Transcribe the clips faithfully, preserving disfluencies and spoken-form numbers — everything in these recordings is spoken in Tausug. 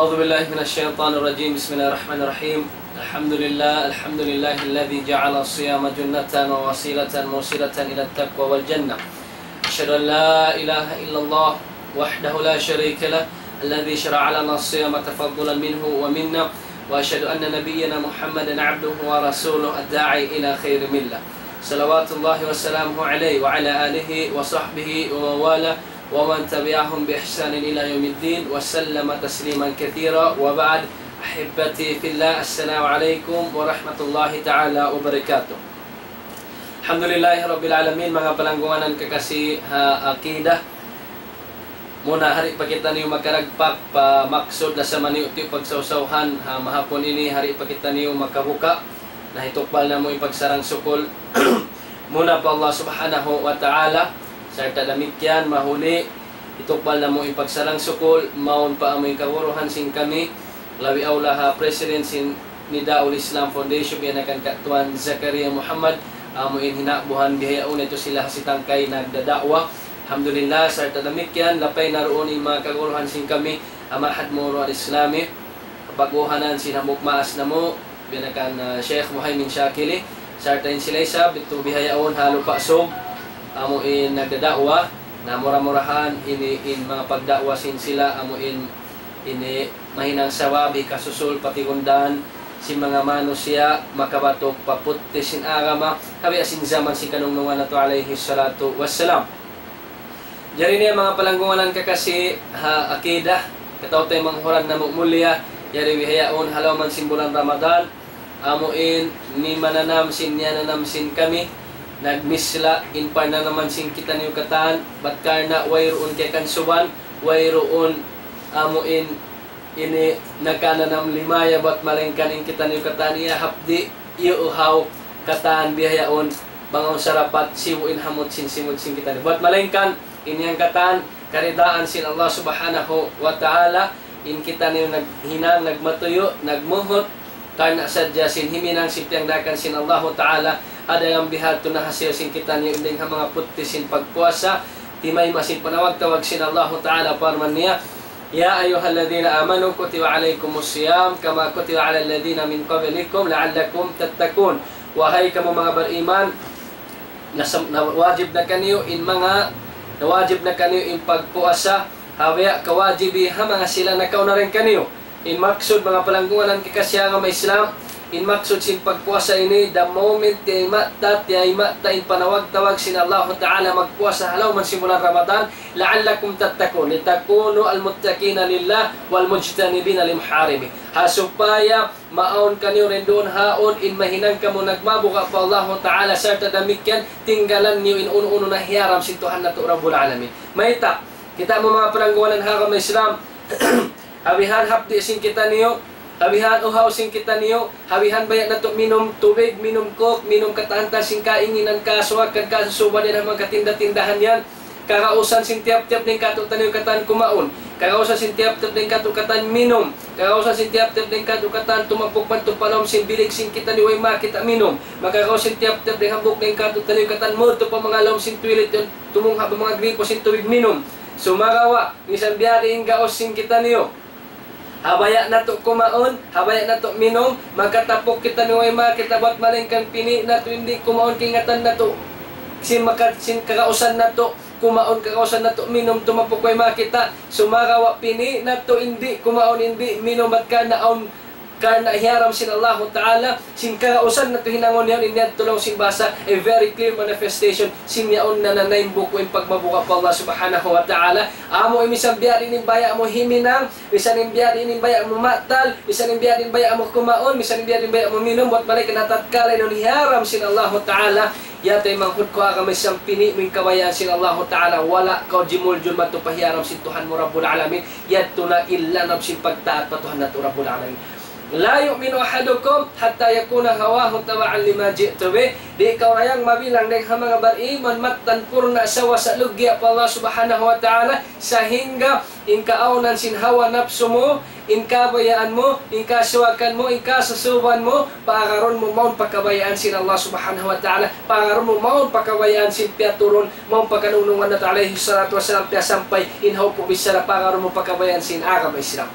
أعوذ بالله من الشيطان الرجيم. بسم الله الرحمن الرحيم. الحمد لله، الحمد لله الذي جعل الصيام جنة ووسيلة موصلة إلى التقوى والجنة. أشهد أن لا إله إلا الله وحده لا شريك له، الذي شرع لنا الصيام تفضلا منه ومنا، وأشهد أن نبينا محمدا عبده ورسوله الداعي إلى خير ملة. صلوات الله وسلامه عليه وعلى آله وصحبه ومن والاه ومن تبعهم بإحسان إلى يوم الدين وسلم تسليما كثيرا وبعد. أحبتي في الله، السلام عليكم ورحمة الله تعالى وبركاته. Alhamdulillahi Rabbil Alamin, manga palanggungan kakasi ha aqidah. Muna, hari pa kitaniyu makaragpak pa maksud lasa maniyu tiyu pagsawsawhan ha mahapun ini, hari pa kitaniyu makabuka. Na hitukbal namu' in pagsarang-sukul muna pa Allah Subhanahu wa Ta'ala, sarta' damikkiyan mahuli hitukbal namu' in pagsarang-sukul mawn pa amu in kaguruhan sin kami, labi awla ha President sin Nidaul Islam Foundation, biya' na kan Katuan Zakaria Muhammad, amu in hina'buhan bihaun itu sila ha sitangkay nagdada'wa. Alhamdulillah, sarta' damikkiyan, lapay na duun in manga kaguruhan sin kami, ha Ma'had Muru Al-Islami, kapaguhanan sin hambuuk maas namu', biya' na kan, ah, Sheikh Muhaymin Shakili, sarta' in sila isab, itu bihaun ha Lupa' Sug, amu in nagdada'wa, na mura-murahan, ini in manga pagda'wa sin sila, amu in, ini mahinang sabab, hikasusul, patigundan, sin manga manusiya', makabatuk pa putti sin agama, ha biya' sin jaman sin kanungnungan natu' alayhi salatu wassalam. Jari ini manga palanggungan kakasi ha aqidah, kataw-taymanghuran namu' mulia, jari bihaun ha lawm sin bulan Ramadan, amu in nimananam sin niyananam sin kami, nagmisla' in parnanaman sin kitaniyu katan, bat karna' wayruun kiyakasuban, wayruun amu in ini nakananam limaya, bat malayngkan in kitaniyu katan iyahapdi', iyuhaw katan bihaun, bang awn sarapat sibu' in hamut sin simud sin kitaniyu. Bat malayngkan in yan katan karidaan sin Allah Subhanahu wa Ta'ala, in kitaniyu naghinang, nagmatuyu', nagmuhut, karna' sadja sin himinang sin piyangdaakan sin Allahu Ta'ala, ha dayn bihadtu na hasiyu sin kitaniyu in dayn ha manga putti sin pagpuasa, timayma' sin panawag-tawag sin Allahu Ta'ala, parman niya, يا أيها الذين آمنوا كتب عليكم الصيام كما كتب على الذين من قبلكم لعلكم تتقون. Wahai kamu manga bariman, nasam-, na, wajib na kaniyu in manga, na wajib na kaniyu in pagpuasa, ha biya' kawajibi ha manga sila nakauna dayn kaniyu. In maksud manga palanggungan kakasi ha agama Islam, in maksud sin pagpuasa ini, the moment tiyayma'ta, tiyayma'ta in panawag-tawag sin Allahu Ta'ala magpuasa ha lawm sin bulan Ramadan, لعلكم تتقون، لتكونوا المتقين لله والمجتنبين لمحارمه. Ha supaya maawn kaniyu dayn duun ha yaun in mahinang kamu nagmabuga' pa Allahu Ta'ala, sarta' damikkiyan tinggalan niyu in unu-unu na hiyaram sin Tuhan natu' Rabbul Alamin. Mayta', kita' mu manga palanggungan ha agama Islam, ha bihan hapdi' sin kitaniyu, ha bihan uhaw sin kitaniyu, ha bihan baya' natu' minum tubig, minum coke, minum katan-katan sin kainginan, kasuwakan, kasusuban yan ha manga katinda-tindahan yan. Kagausan sin tiyap-tiyap dayn kātu'niyu katan kumaun. Kagausan sin tiyap-tiyap dayn kātu' katan minum. Kagausan sin tiyap-tiyap dayn kātu' katan tumapuk madtu pa lawm sin bilik sin kitaniyu way makita' minum. Makagaus sin tiyap-tiyap dayn hambuuk dayn kātu'niyu katan madtu pa manga lawm sin toilet yan, tumungha' pa manga gripo sin tubig minum. Sumagawa', misan biya' diin gaus sin kitaniyu, ha baya' natu' kumaun, ha baya' natu' minum, makatapuk kitaniyu way makita' bat malayngkan pini' natu' in di' kumaun kaingatan natu'. Sin maka-, sin kagausan natu' kumaun, kagausan natu' minum, tumapuk way makita'. Sumagawa' pini' natu' in di' kumaun, in di' minum bat karna' awn, karna' hiyaram sin Allahu Ta'ala, sin kagausan natu' hinangun yaun, in yadtu laung sin bahasa, a very clear manifestation sin yaun na nanaym buku' in pagmabuga' pa Allah Subhanahu wa Ta'ala. Amu in misan biya' diin in baya' mu himinang, misan in biya' diin in baya' mu matal, misan in biya' diin in baya' mu kumaun, misan in biya' diin in baya' mu minum, bat malayngkan ha tatkala in yaun hiyaram sin Allahu Ta'ala, ya taymanghud ku ha agama Islam, pini' mu in kabayaan sin Allahu Ta'ala, wala' kaw jimuljul madtu pa hiyaram sin Tuhan mu Rabbul Alamin, yadtu na in lanab sin pagtaat pa Tuhan natu' Rabbul Alamin. لا يؤمن أحدكم حتى يكون هواه تبعا لما جئت به. Di' kaw dayang mabilang dayn ha manga bariman mattan purna' sawasa luggiya' pa Allah Subhanahu wa Ta'ala, sahingga in kaawnan sin hawa napsu mu, in kabayaan mu, in kasuwakan mu, in kasusuban mu, paagarun mu mawn pa kabayaan sin Allah Subhanahu wa Ta'ala, paagarun mu mawn pa kabayaan sin piyaturun, mawn pa kanungnungan natu' alayhi salatu wassalam piyasampay, in hawpu' bichara paagarun mu pa kabayaan sin agama Islam.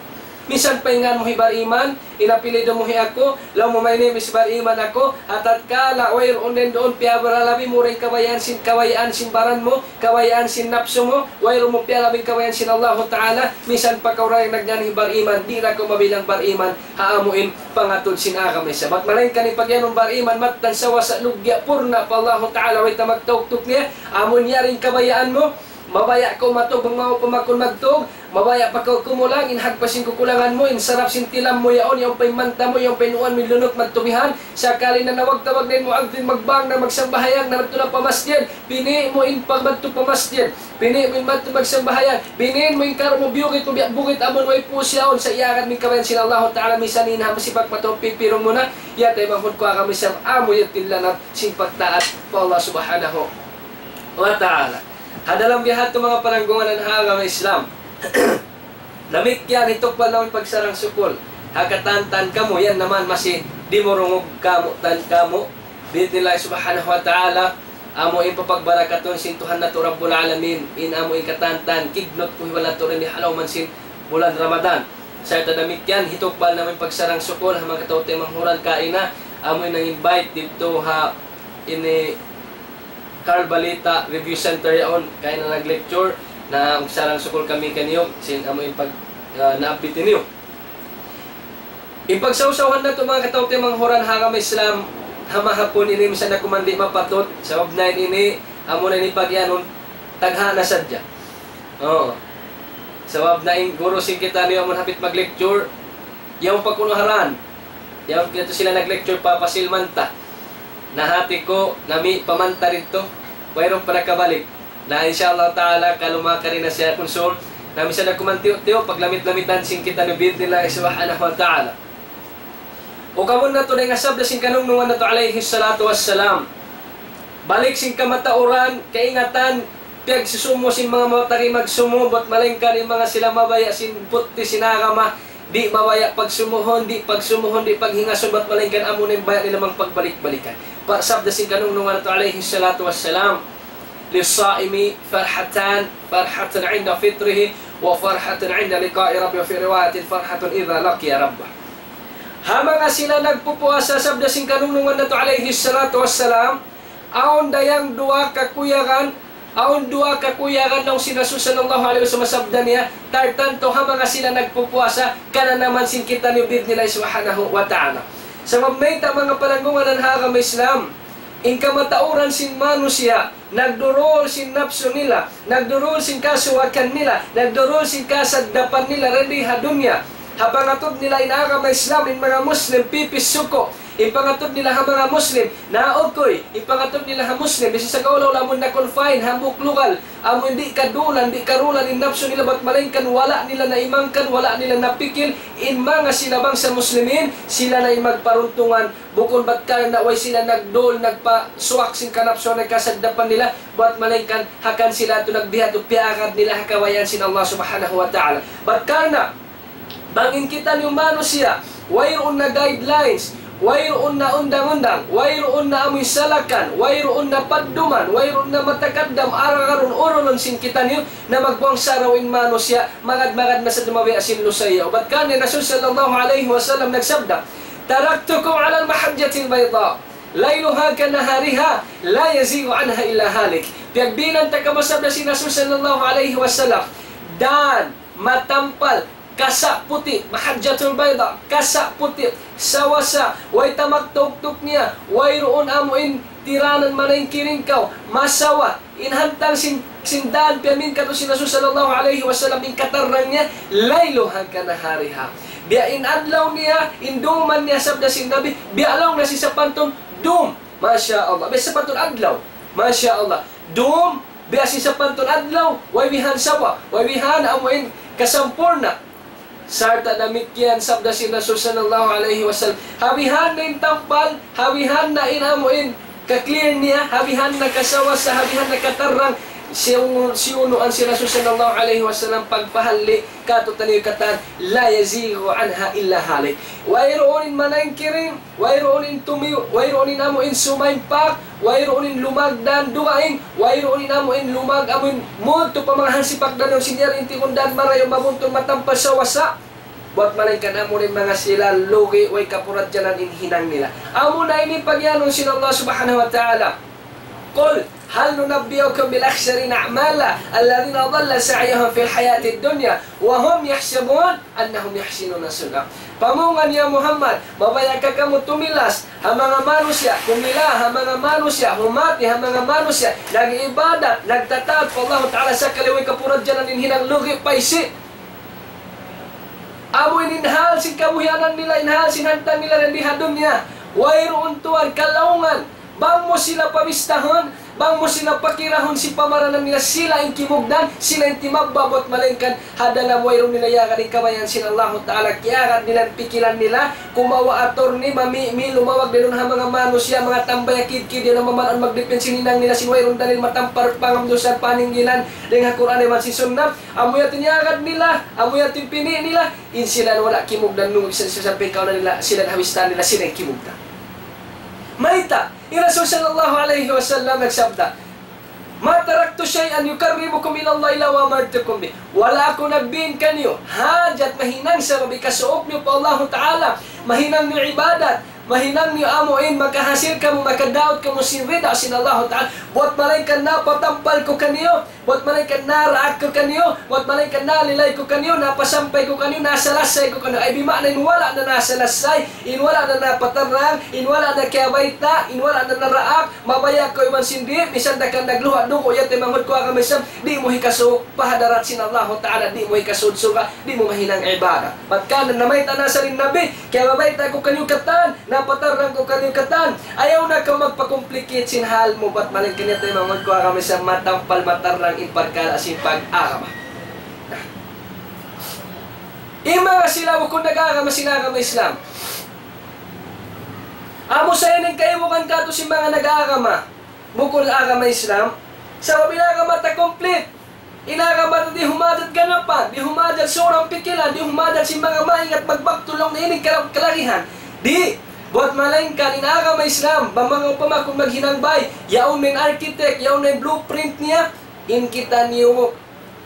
Minsan pa in ngan mu hi Bar Iman, in apelyidu mu hi aku, laung mu, "My name is Bar Iman aku." Ha tatkala wayruun na duun, piyabara labi mu da in kabayaan sin, kabayaan sin baran mu, kabayaan sin napsu mu, wayruun mu piyalabi in kabayaan sin Allahu Ta'ala, minsan pa kaw da in nagngan hi Bar Iman, di' da kaw mabilang Bar Iman ha amu in pangatud sin agama Islam. Bat malayngkan in pagiyanun Bar Iman, mattan sawasa, lugya', purna' pa Allahu Ta'ala, way ta magtauktuk niya, amu in yari in kabayaan mu, mabaya' kaw matug bang mau pa makun magtug, mabaya' pa kaw kumulang, in hagpa sin kukulangan mu, in sarap sin tilam mu yaun, yaun pa in manta mu, yaun pa in uwan mu, lunuk madtu bihan, sakali na nawag-tawag na in muadhdhin, magbang na, magsambahayang na, madtu na pa masjid, pini' mu in pagmadtu pa masjid, pini' mu in madtu magsambahayang, binin mu in karu mu, biyugit mu, biya' bugit amun way pūs yaun, sa' iyagad mu in kabayaan sin Allahu Ta'ala, misan in ha masipak mataud pipirung mu na, ya taymanghud ku agama Islam, amu yadtu in lanab sin pagtaat pa Allah Subhanahu wa Ta'ala. Ha dalam biya' hādtu manga palanggungan ha agama Islam. Damikkiyan hitukbal namu' in pagsarang-sukul ha katantan kamu, yan naman masi dimurungug kamu, tan kamu. Bi'idhnillah subhanahu wa ta'ala, amu in papagbarakatun sin Tuhan natu' Rabbul Alamin, in amu in katantan, kignut kuhiwal natu' dii ha lawm sin bulan Ramadan. Sarta' damikkiyan, hitukbal namu' in pagsarang-sukul ha manga kataymanghuran kaina, amu in nag-invite didtu ha ini Carbalita Review Center yaun, kaina nag-lecture, na magsarang-sukul kami kaniyu, sin amu in pag, ah, naabit niyu. In pagsawsawan natu' manga kataymanghuran ha agama Islam, ha mahapun ini minsan na kuman di' mapatut, sabab na ini, amu na ini pagiyanun, tagha na sadja. Oo. Sabab na in guru sin kitaniyu amun hapit mag-lecture, yaun pa kunu' ha dan. Yaun katu' sila nag-lecture pa Pasil Manta. Na hati ku, nami pa Manta didtu. Wayruun pa nakabalik. Na insha Allah ta'ala, kalu makari na siya kunsum. Na minsan na kuman tiyu'-tiyu', paglamit-lamitan sin kitaniyu bi'idhnillah subhanahu wa ta'ala. Ukamun natu' dayn ha sabda sin kanungnungan natu' alayhi salatu wassalam. Balik sin kamatauran, kaingatan, piyagsusumu sin manga matari magsumu, bat malayngkan in manga sila mabaya' sin putti sin agama, di' mabaya' pagsumuhun, di' pagsumuhun, di' paghingasun, bat malayngkan amu na in baya' nila mang pagbalik-balikan. Pa-, sabda sin kanungnungan natu' alayhi salatu wassalam, للصائم فرحتان، فرحة عند فطره، وفرحة عند لقاء ربه، وفي رواية فرحة إذا لقي ربه. Ha manga sila nagpupuasa, sabda sin kanungnungan natu' alayhi salatu wassalam, awn dayang duwa kakuyagan, awn duwa kakuyagan laung sin Rasul sallallahu alayhi wasallam, sabda niya, tartantu ha manga sila nagpupuasa, kananaman sin kitaniyu bi'idhnillah subhanahu wa ta'ala. Sabab mayta' manga palanggungan ha agama Islam, in kamatauran sin manusiya', nagdurul sin napsu nila, nagdurul sin kasuwakan nila, nagdurul sin kasagdapan nila dii ha dunya. Ha pangatud nila in agama Islam, in manga Muslim, pipis suku. In pangatud nila ha manga Muslim, naukuy. In pangatud nila ha Muslim, bisan sa kaulaw lamun na-confine, hambuuk lugal, amun di' kadulan, di' karulan in napsu nila, bat malayngkan wala' nila naimangkan, wala' nila napikil, in manga sila bangsa Muslimin, sila na in magparuntungan, bukun bat karna' way sila nagdul, nagpasuwak sin kanapsuan, nagkasagdapan nila, bat malayngkan hangkan sila tu nagbiya' tu piyaagad nila ha kabayaan sin Allah Subhanahu wa Ta'ala. Bat karna' bang in kitaniyu manusiya', wayruun na guidelines, wayruun na undang-undang, wayruun na amuin salakan, wayruun na padduman, wayruun na matakaddam, agarun-urunun sin kitaniyu, na magbuwang saraw in manusiya', magad-magad na sadja mabiya' sin lusayaw. Bat karna' in Rasul sallallahu alayhi wasallam nagsabda, تركتكم على المحجة البيضاء ليلها كنهارها لا يزيغ عنها إلا هالك. Piyagbinan ta kamu, sabda sin Rasul sallallahu alayhi wasallam, dan matampal, kasa' puti', mahajjatul bayda, kasa' puti', sawasa, way ta magtuktuk niya, wayruun amuin tiranan, manayngkiring kaw, masawa, in hantang sin, sin dan piyamin katu' sin Rasul sallallahu alayhi wasallam, in katarrang niya, ليلها كنهارها. Biya' in adlaw niya, in duman niya, sabda sin Nabi, biya' laung niya sin sapantun dum. Masha Allah. Biya' sapantun adlaw. Masha Allah. Dum, biya' sin sapantun adlaw, way bihan sawa, way bihan amuin kasampurna'. Sarta' damikkiyan sabda sin Rasul sallallahu alayhi wasallam. Ha bihan na in tampal, ha bihan na in amuin ka-clear niya, ha bihan na kasawasa, ha bihan na katarrang, siyunu-, siyunuan sin Rasul sallallahu alayhi wasallam pagpahalli' katu'taniyu katan, لا يزيغ عنها إلا هالك. Wayruun in manayngkiring, wayruun in tumiyu', wayruun in amuin sumaympak, wayruun in lumagdan dugaing, wayruun in amuin lumag-, amuin mudtu pa manga hansipak dan yaun sin yari in tigundan marayaw, mabuntun, matampal, sawasa. Buat malaingkan amu in manga sila lugi' way kapuradjalan in hinang nila. Amuna ini pagiyanun sin Allah Subhanahu wa Ta'ala. قل هل ننبئكم بالأخسرين أعمالا الذين ضل سعيهم في الحياة الدنيا وهم يحسبون أنهم يحسنون صنعا. Pamungan ya Muhammad, mabaya' ka kamu tumilas ha manga manusiya', kumila ha manga manusiya', humati ha manga manusiya', nag-ibadat, nagtataat pa Allah Ta'ala sakali way kapuradjalan in hinang lugi' paysi. Amu in hal sin kabuhianan nila, in hal sin hantang nila di ha dunya. Wayruun tuwan kalaungan. Bang mu sila pabistahun, bang mu sila pakirahun sin pamaranan nila, sila in kimugdan, sila in timabba' buat malaingkan ha dalam wayruun nila iyagad in kabayaan sin Allahu Ta'ala, kiyagad nila in pikilan nila, kumawa' attorney, mami', mi-, lumawag dayn duun ha manga manusiya', manga tambay, akid-kid, yan ang mamanaan magdipin sin hinang nila, sin wayruun dalil matampar, pangamdusan, paninggilan, dayn ha Qur'an iban sin Sunnah, amu yadtu in iyagad nila, amu yadtu in pini' nila, in sila wala' kimugdan nung sa-, sa-, sampay kaw na nila, sila in hawistan nila, sila in kimugdan. Mayta', in Rasul sallallahu alayhi wasallam nagsabda, ما تركت شيئا يقربكم إلى الله إلا وأمرتكم به. Wala' aku nagbiin kaniyu hajat mahinang sabab hikasuuk niyu pa Allahu Ta'ala, mahinang niyu ibadat, mahinang niyu amu in makahasil kamu, makadaug kamu sin rida sin Allahu Ta'ala. Buat malaingkan napatampal ku kaniyu, buat malaingkan naraak ku kaniyu, buat malaingkan nalilay ku kaniyu, napasampay ku kaniyu, nasalassay ku kaniyu. Ay, bima'na in wala' na nasalassay, in wala' na napatarrang, in wala' na kiyabayta', in wala' na naraak, mabaya' kaw iban sin di', misan da ka nagluha' dugu', ya taymanghud ku agama Islam, di' mu hikasuuk pa hadarat sin Allahu Ta'ala, di' mu hikasud surga', di' mu mahinang ibadat. Bat kan namayta' na sa in Nabi, kiyabayta' ku kaniyu katan, napatarrang ku kaniyu katan. Ayaw na kaw magpa-complicate sin hal mu, bat malaingkan ya taymanghud ku agama Islam, matampal matarrang in parkala' sin pag-agama. In manga sila bukun nag-agama sin agama Islam. Amu sa ini in kaibugan katu' sin manga nag-agama bukun agama Islam. Sabab in agama ta complete. In agama ta di' humajat ganapan, di' humajat surang pikilan, di' humajat sin manga maingat magbaktul laung niya ini kala-, kalagihan. Di', buat malaingkan in agama Islam, bang manga upama kunu' maghinang bay, yaun na in architect, yaun na in blueprint niya, in kitaniyu,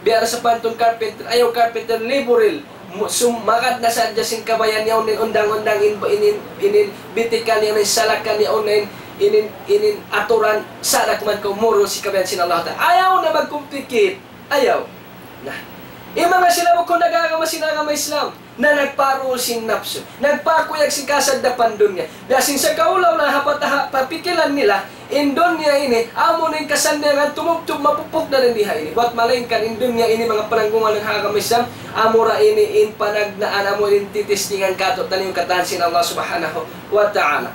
biya' da sapantun carpenter, ayaw carpenter, laborer, mu-, sum-, magad na sadja sin kabayaan, yaun na in undang-undang, in, in, in, in, in bitikal, yaun na in salakan, yaun na in, in, in, in aturan, sa' da kuman kaw murul sin kabayaan sin Allah Ta'ala. Ayaw na mag-complicate. Ayaw. Na. In manga sila bukun nag-agama sin agama Islam, na nagparul sin napsu, nagpakuyag sin kasaddapan dunya. Biya' sin sa kaulaw na ha pata-, ha pikilan nila, in dunya ini, amu na in kasannyangan tumubtub mapupuk na dayn di ha ini. Buat malaingkan in dunya ini, manga pananggungan ha agama Islam, amura ini in panagnaan, amu in titestingan katu'taniyu katan sin Allah Subhanahu wa Ta'ala.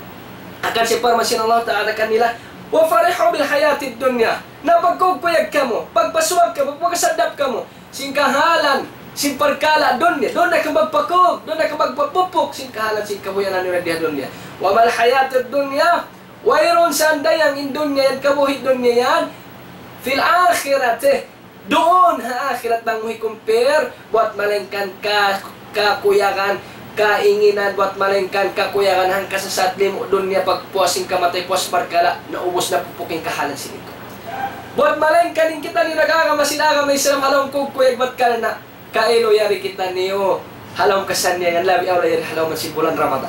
Hangkan siya parman sin Allah Ta'ala kanila, وفرحوا بالحياة الدنيا. Na pagkukuyag kamu, pagpasuwag kamu, pagpakasaddap kamu sin kahalan sin parkala' dunya, duun na kaw magpakug, duun na kaw magpapupuk sin kahalan sin kabuhianan niyu di ha dunya. وما الحياة الدنيا, wayruun sandayang in dunya yan, kabuhi' dunya yan, في الآخرة, duun ha akhirat bang mu hi-compare, buat malaingkan ka-, kakuyagan, kainginan, buat malaingkan kakuyagan hangka sasat limu' dunya pagpuas sin kamatay, puas parkala', naubus na pupuk in kahalan sin itu. Buat malaingkan in kitaniyu nag-agama sin agama Islam ha lawm kukuyag bat karna' kailu yari kitaniyu ha lawm kasannyangan, labi awla yari ha lawm sin bulan Ramadan.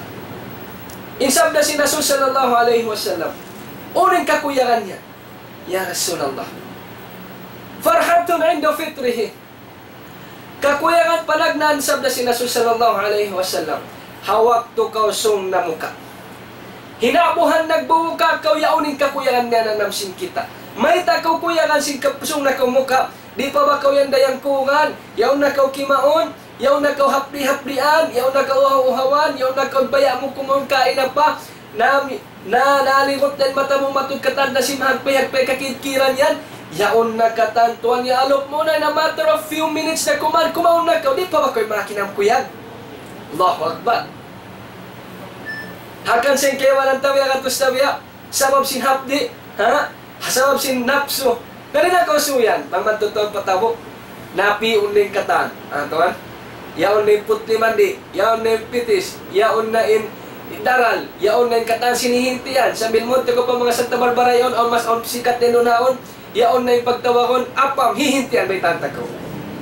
In sabda sin Rasul sallallahu alayhi wasallam, unu in kakuyagan niya, ya Rasulullah? فرحة عند فطره. Kakuyagan panagnaan, sabda sin Rasul sallallahu alayhi wasallam, ha waktu kaw sūng namuka'. Hinabuhan nagbubuka kaw, yaun in kakuyagan niya nanam sin kita. Mayta' kaw kuyagan sin kap-, sūng na kaw muka', di' pa ba kaw yan dayang kungan, yaun na kaw kimaun, yaun na kaw hapdi'-hapdian, yaun na kaw uhaw-uhawan, yaun na kaw baya' mu kumaun kaina pa, nami-, na, naligut na in mata mu matud katan na sin mahagpay-hagpay kakidkiran yan. Yaun na katan tuwan, ya alup mu na, in a matter of few minutes na kuman, kumaun na kaw, di' pa ba kaw makinam kuyag? Allahu Akbar. Hangkan sin kaibanan tabiya' katus tabiya', sabab sin hapdi', ha? Sabab sin napsu. Nari na kaw suyan, bang man tuud pa tabuk. Napi'un na in katan. Ah, tuwan. Yaun na in putli mandi, yaun na in pitis, yaun na in daral, yaun na in katan sin hihintian. Sambil munti' kaw pa manga Santa Barbara yaun, awn mas awn sikat na in unaun, yaun na in pagtawagun, apam, hihintian, baytaan ta kaw.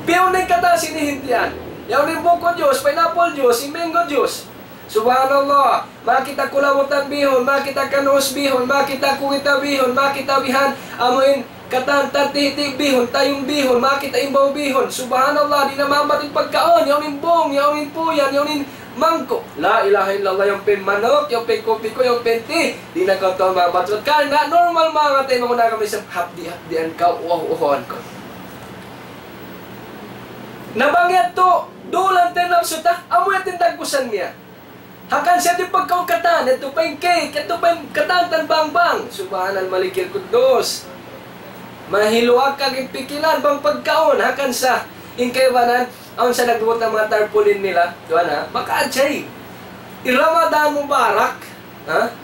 Pi'un na in katan sin hihintian. Yaun in buko juice, pineapple juice, in mango juice. Subhanallah. Makakita' kulabutan bihun, makakita' kanus bihun, makakita' kugita bihun, makakita' bihan, amu in katan tatihi' bihun, tayung bihun, makakita' imbaw bihun. Subhanallah, di' na maabut in pagkaun, yaun in bung, yaun in puyan, yaun in mangku'. La ilaha illallah, yaun pa in manuk, yaun pa in kupi ku, yaun pa in tea, di' na kaw tuud maabut. Karna' normal manga taymanghud ku ha agama Islam, hapdi'-hapdian kaw, uhaw-uhawan kaw. Na bang yadtu, dulan ta in napsu ta, amu yadtu in dagbusan niya. Hangkan siya di' pagkaun katan, yadtu pa in cake, yadtu pa in katan tan bangbang. Subhanal Malikil Quddus. Mahiluag in pikilan bang pagkaun, hangkan sa in kaibanan, awn sa nagbubuhat sin manga tarpaulin nila, duwa na, maka-ajaib. In Ramadan Mubarak, ha?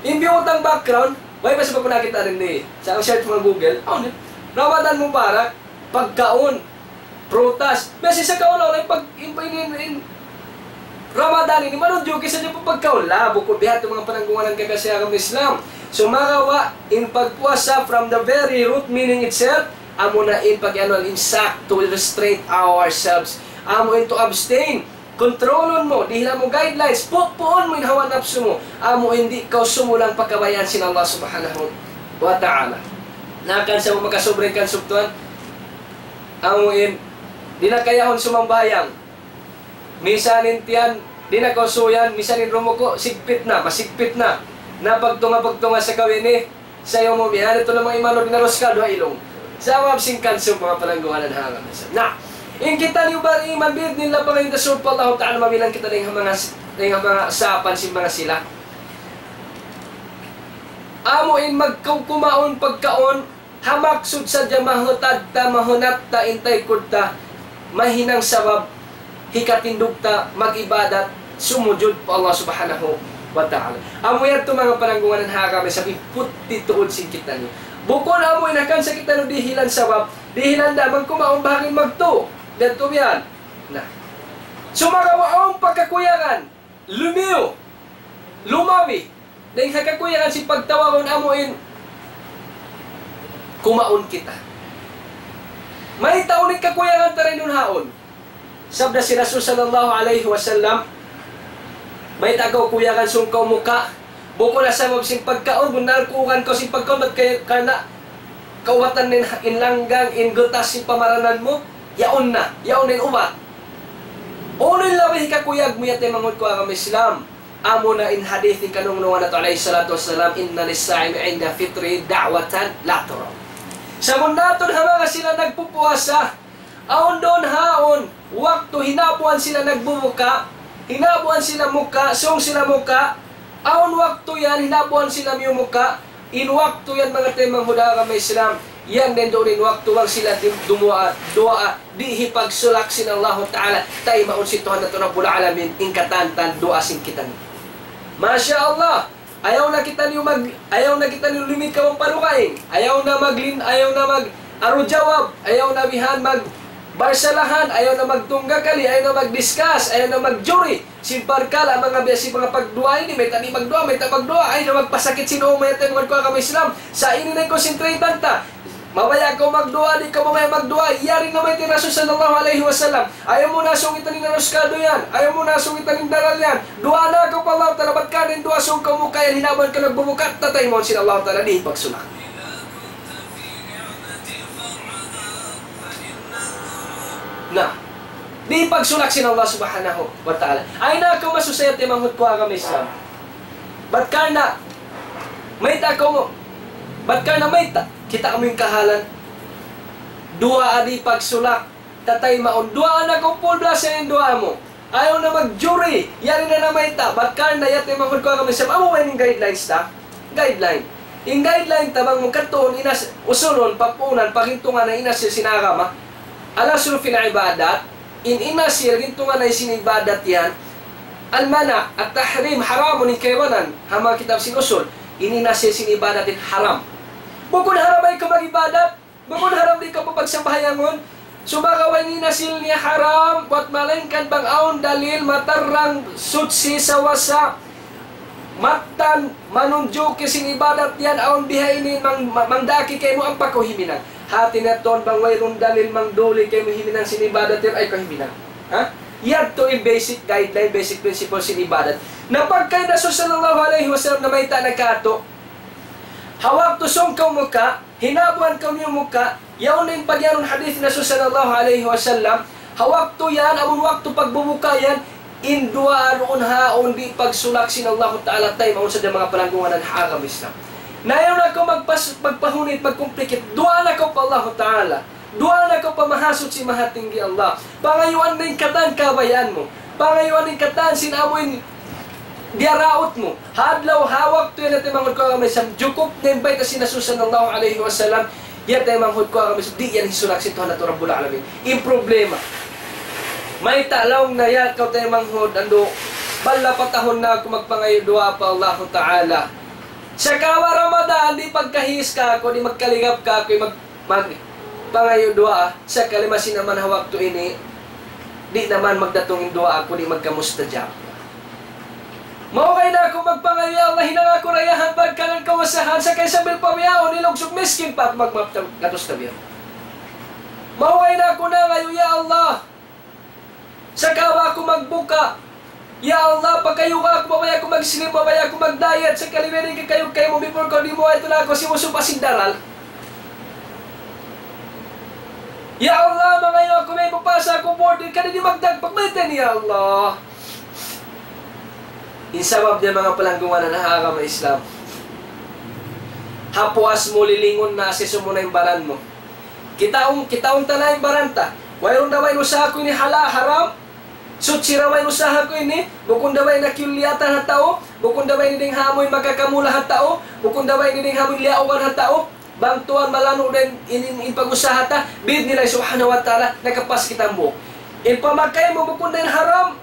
In biyutang background, way pa sa pagpunakit na rin di. Sa ang search mo Google, awn yun. Ramadan Mubarak, pagkaun, prutas. Biya' sin kaulaw, in pag, in, in, in, in Ramadan ini, manunjuki sadja pa pagkaun. La, bukun biya' ha yan manga pananggungan kami ha agama Islam. Sumagawa', in pagpuasa from the very root meaning itself, amuna in pag-anu, in sakto, to restrain ourselves. Amu in to abstain. Kontrolun mu, dihilan mu guidelines, pupuun mu in hawa napsu mu. Amu in di' kaw sumulang pa kabayaan sin Allah Subhanahu wa Ta'ala. Na hangkan sa mu makasubra in kansubtuan, amu in, di' na kayahun sumambahayang. Misan in tiyan, di' na kaw suyan, misan in rumuku', sigpit na, masigpit na. Na pagtunga-pagtunga sa kaw ini, sayu mu bihan, yadtu na manga imanu, di' na ruskal, duwa ilung. Sabab sin kansub manga pananggungan ha agama Islam. Na, in kitaniyu bariman, bi'idhnillah, pangayuun ta sūng pa Allah Ta'ala, mabilang kita dayn ha manga, dayn ha manga sāpan sin manga sila. Amu in magkumaun pagkaun, ha maksud sadja mahutad ta, mahunat ta, in taykud ta, mahinang sabab, hikatindug ta, mag-ibadat, sumujud pa Allah Subhanahu wa Ta'ala. Amu yadtu manga pananggungan ha agama Islam, in putti tuud sin kitaniyu. Bukun amu in hangkan sa kitaniyu dihilan sabab, dihilan da magkumaun bahagin magtu. Yadtu biya' yan. Na. Sumagawa' awn pa kakuyagan, lumiyu, lumabi, dayn ha kakuyagan sin pagtawagun amu in kumaun kita. Mayta' unu in kakuyagan ta dayn duun haun? Sabda sin Rasul sallallahu alayhi wasallam, mayta' kaw kuyagan sūng kaw muka', bukun na sabab sin pagkaun, bunnal kuyagan kaw sin pagkaun, bat kay, karna' kaubatan in, in langgang, in gutas sin pamaranan mu, yaun na, yaun na in ubat. Unu in labi hikakuyag mu ya taymanghud ku ha agama Islam? Amuna in hadith sin kanungnungan natu' alayhi salatu wassalam, إن للصائم عند فطره دعوة لا ترد. Sabunnal tuud ha manga sila nagpupuasa, awn duun haun, waktu hinabuan sila nagbubuka, hinabuan sila muka', sūng sila muka', awn waktu yan hinabuan sila miyumuka', in waktu yan manga taymanghud ha agama Islam, yan dayn duun in waktu bang sila di-, dumuwaa, duwaa, di' hipagsulak sin Allahu Ta'ala, taymaun sin Tuhan natu' Rabbul Alamin, in katan-katan duwaa sin kitaniyu. Masha Allah, ayaw na kitaniyu mag-, ayaw na kitaniyu lumikaw pa dugaing, ayaw na maglin-, ayaw na mag-aru jawab, ayaw na bihan mag-barsalahan, ayaw na magtunggakali, ayaw na mag-discuss, ayaw na magjuri, sin parkala' manga biya' sin manga pagduwaa ini, mayta' di' magduwaa, mayta' magduwaa, ayaw na magpasakit sin ū, manga taymanghud ku ha agama Islam. Sa' ini na in concentrate ta. Mabaya' kaw magduwaa, di' kaw mabaya' magduwaa. Yari na mayta' in Rasul sallallahu alayhi wasallam. Ayaw mu na sūngitan in aruskal yan. Ayaw mu na sūngitan in dalal yan. Duwaa na kaw pa Allah Ta'ala, bat karna' in duwaa sūng kaw muka' yan, hinabuan kaw nagbubuka', tataymaun sin Allah Ta'ala, di' hipagsulak. Na, di' hipagsulak sin Allah Subhanahu wa Ta'ala. Ayaw na kaw masusa ya taymanghud ku ha agama Islam. Bat karna', mayta' kaw mu, bat karna' mayta', kita' mu in kahalan. Duwaa di' hipagsulak, tataymaun. Duwaa na kaw full blast in duwaa mu. Ayaw na magjuri, yari na na mayta', bat karna' ya taymanghud ku ha agama Islam, amu ba in guidelines ta? Guideline. In guideline ta bang mu katuun inas-, usulun, pagpuunan, paghintungan na in asil sin agama. الأصل في العبادات, in, in asil, hintungan na sin ibadat yan. المنع، التحريم, haramun in kaibanan, ha manga kitab sin usul. In, in asil sin ibadat in haram. Bukun haram ayaw kaw mag-ibadat, bukun haram di' kaw papagsambahayangun. Sumagawa' in asil niya haram, buat malaingkan bang awn dalil matarrang, suchi, sawasa, mattan, manunjuki sin ibadat yan, awn bihaini mang-, ma-, mangdaki kaymu ampa kaw huminang. Hati niya tuud bang wayruun dalil mangduli kaymu huminang sin ibadat yan, ayaw kaw huminang. Ha? Yadtu in basic guideline, basic principle sin ibadat. Na pagka in Rasul sallallahu alayhi wasallam namayta' na katu', ha waktu sūng kaw muka, hinabuan kaw niyu muka, yaun in pagiyanun hadith Rasul sallallahu alayhi wasallam, ha waktu yan, amun waktu pagbubuka yan, in duwaa duun ha yaun di' pagsulak sin Allahu Ta'ala, taymaun sadja manga palanggungan ha agama Islam. Na ayaw na kaw magpas-, magpahunit, magkumplikit, duwaa na kaw pa Allahu Ta'ala. Duwaa na kaw pa Mahasuchi Mahatinggi Allah. Pangayuan na in katan kabayaan mu. Pangayuan na in katan sin amu in diyaraut mu. Ha adlaw, ha waktu yan, taymanghud ku ha agama Islam, jukup na in bayta' sin Rasul sallallahu alayhi wasallam. Yan, taymanghud ku ha agama Islam, di' yan hisulak sin Tuhan natu' Rabbul Alamin. In problema, mayta' laung niya kaw, taymanghud, andu', balla pa tahun na aku magpangayu' duwaa pa Allahu Ta'ala. Saka ha Ramadan, di' pagkahiis kāku', di' magkaligap kāku', mag-, mag-, pangayu' duwaa, sakali masi na man ha waktu ini, di' na man magdatung in duwaa ku, di' magkamustajab. Maugay na aku magpangayu', "Ya Allah, hinanga aku dayahan, pagkalan kausahan, sakali sambil pa bihaun, ilugsug miskin pa aku, magmaap ta-, gatus ta biya'." Maugay na aku nangayu', "Ya Allah, saka ba aku magbuka. Ya Allah, pakayuga aku, mabaya' aku mag-slim, mabaya' aku mag-diet, sakali biya' diin kakayug kaymu, before kaw dimuwaa, yadtu na aku simusupa sin daral. Ya Allah, mangayu' aku, mabaya' mapasa aku board, kadi di' magdag pagmeten, ya Allah." In sabab niya, manga palanggungan ha agama Islam, ha puas mu lilingun na, asisu mu na in baran mu. Kitaun, kitaun ta na in baran ta. Wayruun da ba in usaha ku ini hala-, haram? Suchi da ba in usaha ku ini? Bukun da ba in kiyuliyatan ha tau? Bukun da ba ini dayn ha amu in makakamula ha tau? Bukun da ba ini dayn ha amu in liyaugan ha tau? Bang tuwan malanu' da in, in, in, in pag-usaha ta, bi'idhnillah subhanahu wa ta'ala, nakapas kita hambuuk. In pamakay mu bukun da in haram,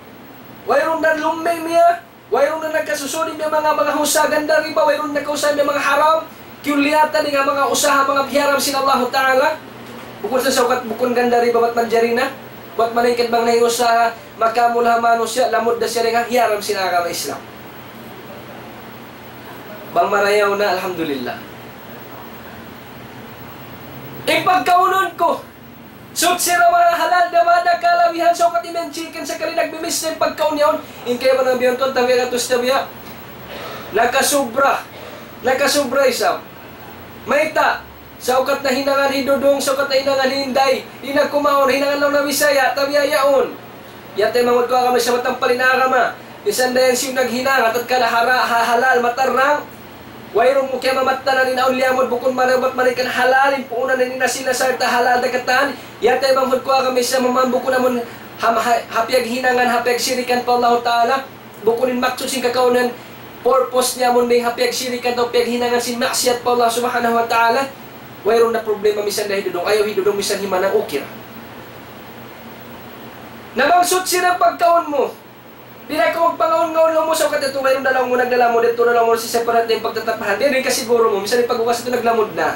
wayruun da lummi' niya, wayruun na nakasusud in manga, manga usaha ganda riba, wayruun na nakausaha in manga haram. Kiyuliyatan in manga usaha, manga hiyaram sin Allahu Ta'ala. Bukun sa saukat, bukun ganda riba, bat manjari na. Bat malaingkan bang na in usaha, makamula ha manusiya', lamud da siya dayn ha hiyaram sin agama Islam. Bang marayaw na, alhamdulillah. In pagkaunun ku, suchi da ba, halal da ba, da kalabihan, saukat in chicken, sakali nagmimis na in pagkaun yaun. In kaibanan biya' tuwan, tabiya' gatus, tabiya'. Nakasubra. Nakasubra isab. Mayta', saukat na hinangan hi Dudung, saukat na hinangan hi Inday. Di' na kumaun, hinangan laung na Bisaya, tabiya' yaun. Yan taymanghud ku ha agama Islam, matampal in agama. Misan da yan siyu naghinang, tatkala hara-, ha-, halal, matarrang. Wayruun mu kiyamamattanan in awn liyamud, bukun marayaw bat malaingkan halal, in puunan in asin na sarta' halal da katan. Yan taymanghud ku ha agama Islam, maman bukun amun ham-, ha-, ha piyaghinangan, ha piyagsirikan pa Allahu Ta'ala. Bukun in maksud sin kakaunan, purpose niya amun dayn ha piyagsirikan atawa piyaghinangan sin maksiyat pa Allah Subhanahu wa Ta'ala. Wayruun na problema misan da hi Dudung. Ayaw hi Dudung, misan hi Manang, okay ra. Na bang suchi da in pagkaun mu. Di' na kaw magpangaun-ngaun, laung mu, saukat yadtu, wayruun da laung mu naglalamud, yadtu na laung mu, sa' separate in pagtatapahan. Di' na kasiguru mu, misan in pagbukas yadtu naglamud na.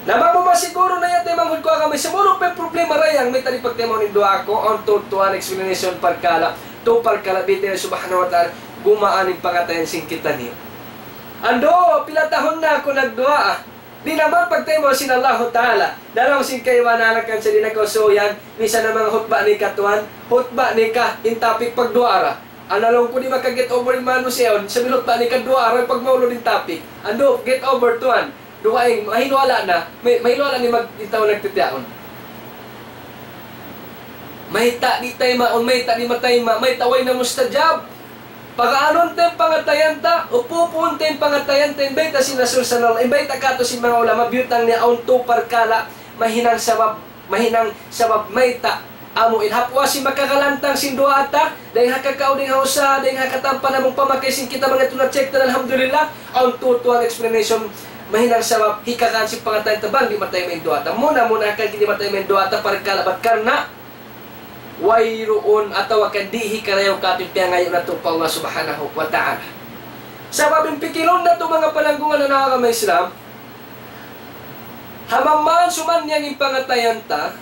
Na bang mu masiguru na yan, taymanghud ku ha agama Islam, wayruun pa in problema dayn ha mayta' di' pagtaymaun in duwaa ku, awn tu, tuwan explanation parkala', tu parkala', bi'idhnillah subhanahu wa ta'ala, gumaan in pangatayan sin kitaniyu. Andu', pila tahun na aku nagduwaa. Di' na man pagtaymaun sin Allahu Ta'ala. Na laung sin kaibanan, kan sa di' na kaw suyan, misan na manga hutba nikah tuwan, hutba nikah, in topic pagduwaa ra. Ana laung ku, di' maka-get over in manusiya' yaun, sambil hutba nikah duwaa ra, pagmaulud in topic. Andu', get over tuwan. Dugaing, mahilu-hala na, may, mahilu-hala na in mag-, in tau nagtitiyaun. Mayta' di' taymaun, mayta' di' matayma', mayta' way na mustajab. Pag'aanun ta in pangatayan ta, upu-upuun ta in pangatayan ta, in bayta' sin Rasul sallallahu, in bayta' katu' sin manga ulama, biyutang niya awn tu parkala', mahinang sabab, mahinang sabab mayta', amu in ha puas sin makakalantang sin duwaa ta, dayn ha kakau, dayn ha usaha, dayn ha katampan amun pamakay sin kita manga tuna check ta, alhamdulillah, awn tu tuwan explanation, mahinang sabab, hikakaan sin pangatayan ta, bang di' matayma' in duwaa ta. Muna-muna kan di' matayma' in duwaa ta, parkala' bat karna', wayruun atawa kan di' hikarayaw katu' in piyangayu' natu' pa Allah Subhanahu wa Ta'ala. Sabab in pikilun natu' manga palanggungan ha agama Islam, ha mamaan sumannyang in pangatayan ta,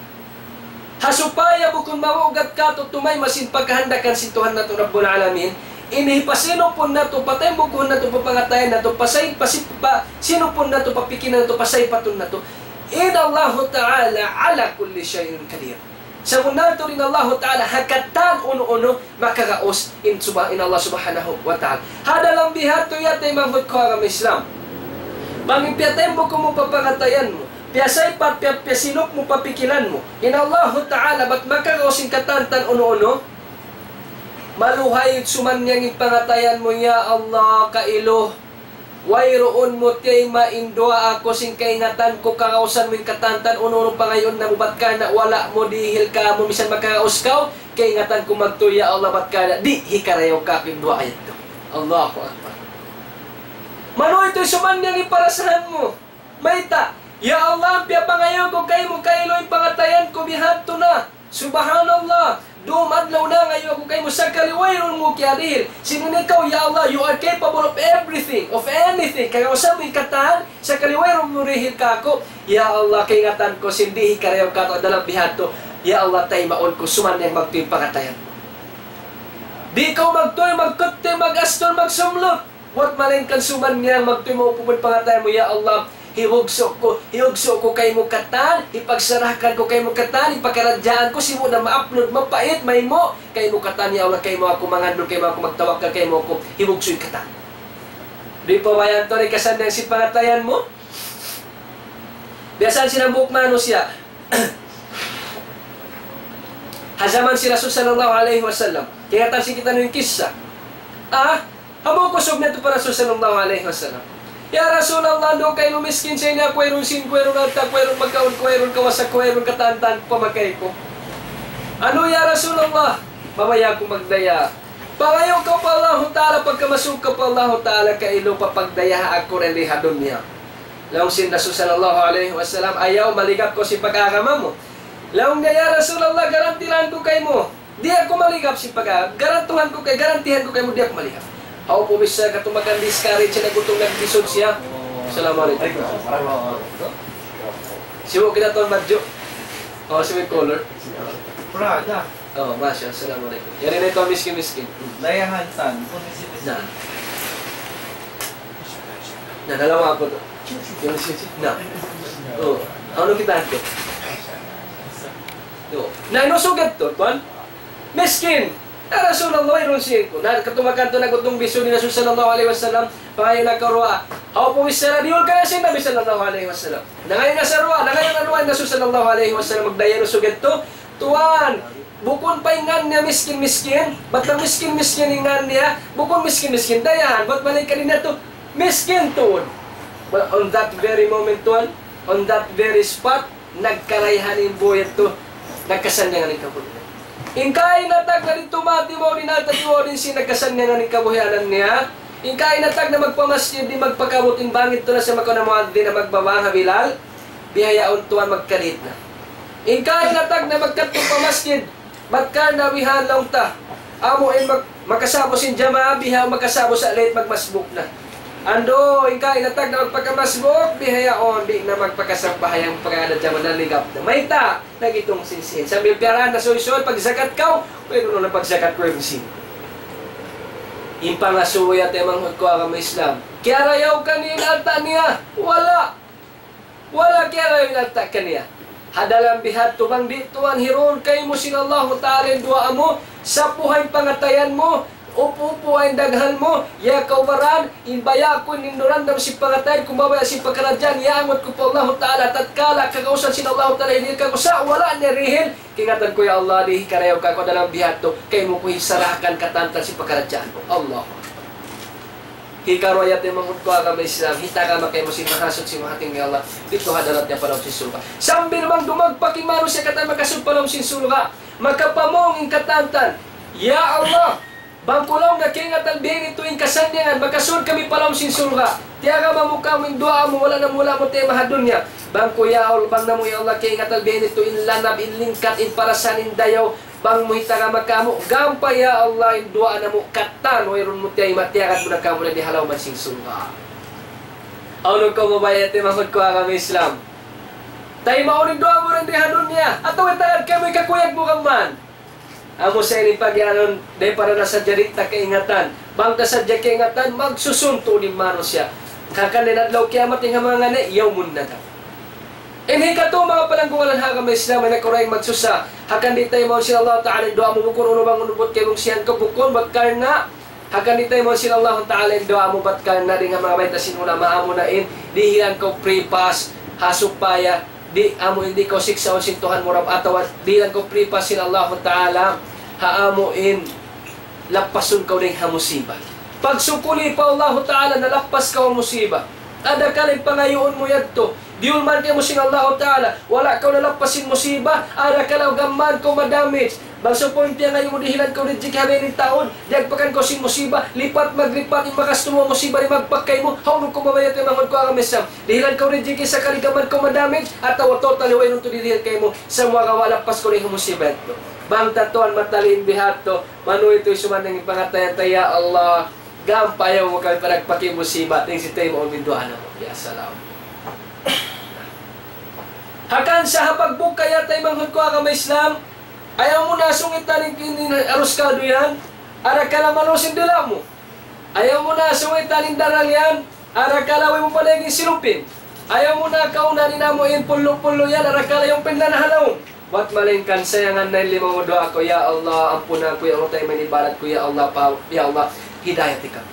ha supaya bukun mamugat katu' tumayma' sin pagkahandakan sin Tuhan natu' Rabbul Alamin, ini hipasinupun natu', pataybukuhun natu', papangatayan natu', pasay-, pasi-, pa-, sinupun natu', papikilan natu', pasaypatun natu'. In Allahu Ta'ala ala kulli shay'in qadir. Sabunnal tuud in Allahu Ta'ala ha katan unu-unu makaraus in, subha-, in Allah Subhanahu wa Ta'ala. Ha dalam biha' yadtu ya taymanghud ku ha agama Islam. Bang in piyataymbuk mu pa pangatayan mu, piyasaypat, piya-, piyasinuk mu pa pikilan mu, in Allahu Ta'ala bat makaraus in katan-katan unu-unu, maluhay sumannyang in pangatayan mu, "Ya Allah, kailu, wayruun mu tiyayma' in duwaa ku sin kaingatan ku karausan mu in katan-katan unu-unu pangayuun namu', bat karna' wala' mu dihil kāmu', misan makaraus kaw, kaingatan ku magtuy, ya Allah, bat karna' di' hikarayaw kāku' in duwaa yadtu." Allahu Akbar. Maluhay tuud sumannyang in parasahan mu. Mayta', "Ya Allah, piyapangayu' ku kaymu kailu in pangatayan ku bihadtu na. Subhanallah, dum adlaw nangayu' aku kaymu sakali wayruun mu kiyarihil. Sin ikaw, ya Allah, you are capable of everything, of anything. Karausan mu in katan, sakali wayruun mu rihil kāku'. Ya Allah, kaingatan ku sin di' hikarayaw kātu' ha dalam bihadtu. Ya Allah, taymaun ku sumannyang magtuy in pangatayan mu." Di' kaw magtuy, magkutti, mag-astul, magsumlut. Buwat malaingkan sumannyang magtuy maupumun pangatayan mu, "Ya Allah, hibugsu' ku, hibugsu' ku kaymu katan, hipagsarahan ku kaymu katan, hipakaradjaan ku, sibu' na maapnud, mapait, maymu', kaymu katan, ya Allah, kaymu aku mangandul, kaymu aku magtawakkal, kaymu aku hibugsu' in katan." Di' pa bayan tuud in kasannyang sin pangatayan mu? Biya' sin hambuuk manusiya'. Ha jaman sin Rasul sallallahu alayhi wasallam. Kaingatan sin kitaniyu in kissa. Ah, hambuuk usug niyadtu pa Rasul sallallahu alayhi wasallam. "Ya Rasulullah, andu' kailu miskin sa ini aku, wayruun sīn ku, wayruun alta' ku, wayruun makaun ku, wayruun kawasa ku, wayruun katan-katan pamakay ku. Unu ya Rasulullah, mabaya' aku magdaya. Pangayu' kaw pa Allahu Ta'ala, pagkamasuuk kaw pa Allahu Ta'ala, kailu papagdayaha aku dayn di ha dunya." Laung sin Rasul sallallahu alayhi wasallam, "Ayaw, maligap kaw sin pag-agama mu." Laung niya, "Ya Rasulullah, garantihan ku kaymu. Di' aku maligap sin pag-, garantihan ku kay-, garantihan ku kaymu, di' aku maligap." Aw, pumisal katumakan, discourage na, gutung, nagbisud siya. Assalamu alaykum. Sibu' kita tuan badju'. Oh, sibu' color. Prada. Oh, masha, assalamu alaykum. Yari na itu miskin-miskin. Dayahan tan. Na. Na, dalawa aku tu. Yung miskin. Na. Oh, ano kita tu? Yo. Na, unu sugad tu, tuan? Miskin. "Ya Rasulullah, wayruun sīn ku." Na, katumakan tu, nagutung, bisud in Rasul sallallahu alayhi wasallam, pangayu' na karuwa. Aw, pumisal, diyul ka na sin Nabi sallallahu alayhi wasallam. Nangayu' na sa duwaa, nangayu' na duwaa in Rasul sallallahu alayhi wasallam, magdaya, unu sugad tu? "Tuan, bukun pa in ngan niya miskin-miskin, bat na miskin-miskin in ngan niya, bukun miskin-miskin, dayahan, bat malaingkan in niya tu, miskin tuud." Well, on that very moment, tuan, on that very spot, nagkarayahan in boy yadtu, nagkasannyangan in kabuhi'. In kaina tagna' di' tumati mawn in alta' di' mawn in sīn, nagkasannyangan in kabuhianan niya. In kaina tagna' magpamasjid, di' magpakabut, in bang yadtu na siya makauna muadhdhin na magbabang ha Bilal, bihaun tuwan magkalit na. In kaina tagna' magkadtu pa masjid, bat karna' bihan laung ta, amu in mag-, makasa'bu sin jamaa, bihaun makasa'bu sa' late, magmasbuk na. Andu', in kaina tagna' magpakamasbuk, bihaun di' na magpakasambahayang, pagkadtu jamaa, naligap na. Mayta', nagitung sin sīn. Sambil piyarahan na suysuy, pagzakat kaw, wayruun na pagzakat, wayruun sīn. In pangasubu ya taymanghud ku agama Islam. Kiyarayaw kaniya in alta' niya? Wala'. Wala' kiyarayaw in alta' kaniya. Ha dalam bihadtu bang di' tuwan hirun kaymu sin Allahu Ta'ala in duwaa mu, sapuha in pangatayan mu, upu-upuha in daghan mu, ya kaubaran, in baya' ku in hinduran da sin pangatayan ku, mabaya' sin pakaradjaan, iyaangut ku pa Allahu Ta'ala, tatkala kagausan sin Allahu Ta'ala, hirihil kāku' sa' wala' niya rihil, kaingatan ku, ya Allah, di' hikarayaw kāku' ha dalam bihadtu, kaymu ku hisarahan katan-katan sin pakaradjaan ku. Allahu Akbar. Hikaruwa ya taymanghud ku agama Islam, hitagama kaymu sin Mahasuchi Mahatinggi Allah, didtu ha hadarat niya pa lawm sin surga'. Sambil bang dumagpak in manusiya' katan makasud pa lawm sin surga', makapamung in katan-katan, "Ya Allah, bang ku laung na kaingatan biya' ini tuud in kasannyangan, makasud kami pa lawm sin surga'. Tiyagama mu kāmu' in duwaa mu, wala' namu', wala' mu tayma' ha dunya. Bang ku ya Allah, bang namu' ya Allah kaingatan biya' ini tuud in lanab, in lingkat, in parasahan, in dayaw, bang mu hitagama kāmu', gampay ya Allah in duwaa namu' katan, wayruun mu tiyayma', tiyagad mu na kāmu' dayn di ha lawm sin surga'." Awn kaw mabaya' taymanghud ku agama Islam. Taymaun in duwaa mu dayn di ha dunya. Atawa itagad kaymu in kakuyag mu kaman. Amu sa ini pagiyanun, dayng para na sadja di' ta kaingatan. Bang ta sadja kaingatan, magsusun tuud in manusiya'. Hangkan dayn adlaw kiyamat in ha manga ngani', yawmun nadam. Hikatu, manga palanggungan ha agama Islam, ay nakurang magsusa. Hangkan di' taymaun sin Allah Ta'ala in duwaa mu, bukun unu bang unu buat kaymu siyan ka, bukun bat karna'. Hangkan di' taymaun sin Allah Ta'ala in duwaa mu bat karna' dayn ha manga bayta' sin ulama, amuna in dihilan kaw free pass, ha supaya di' amu in di' kaw siksaun sin Tuhan mu Rabb, atawa dihilan kaw free pass sin Allah Ta'ala, ha amu in lappasun kaw dayn ha musiba. Pagsukuli pa Allah Ta'ala nalappas kaw ha musiba. Adakala in pangayuun mu yadtu, diyulman kaymu sin Allah Ta'ala, wala' kaw nalappas sin musiba, adakala gamman kaw ma-damage. Bang sa' pa in piyangayu' mu dihilan kaw rijiki' ha bini taun, diyagpakan kaw sin musiba, lipat maglipat in bakas tuud musiba di' magpak kaymu, hawnu kaw mamayat, taymanghud ku ha agama Islam. Dihilan kaw rijiki' sakali gamman kaw ma-damage, atawa totally wayruun tuud dihilan kaymu, samuwa wala' lappas kaw dayn ha musiba yadtu. Bang ta tuwan matali' in bihadtu, manuy tuud sumannang in pangatayan ta, ya Allah, gam pa ayaw mu kami panagpaki musiba, dayn sin taymaun in duwaa namu'. Ya salam. Hangkan sa ha pagbuka ya taymanghud ku ha agama Islam, ayaw mu na sungitan in, in, in arus kaldu yan, adakala malus in dila' mu. Ayaw mu na sungitan in daral yan, adakala way mu pa naging silupin. Ayaw mu na kaunan in amu in pulu'-pulu' yan, adakala yung pinlan ha lawm. Bat malayngkan sayangan na in lima mu duwaa kaw, "Ya Allah, ampuna aku, ya Allah, taymaun in ibadat ku, ya Allah, pa, ya Allah, hidayati kami."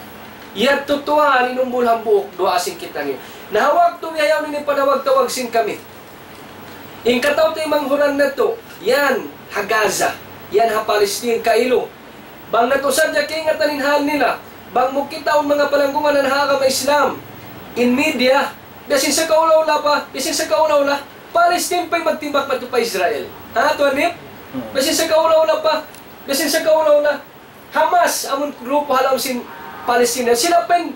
Yadtu tuwan in umbul hambuuk duwaa sin kitaniyu. Na ha waktu bihaun ini panawag-tawag sin kami. In kataw-taymanghuran natu', yan ha Gaza, yan ha Palestine, kailu. Bang natu' sadja kaingatan in hal nila, bang mu kitaun manga palanggungan ha agama Islam, in media, biya' sin sakaula-ula pa, biya' sin sakaula-ula, Palestine pa'y magtimbak madtu pa Israel. Ha, Tuan Nip? Hmm. Biya' sin sakaula-ula pa, biya' sin sakaula-ula. Hamas, amun grupo ha lawm sin Palestine, sila pa'y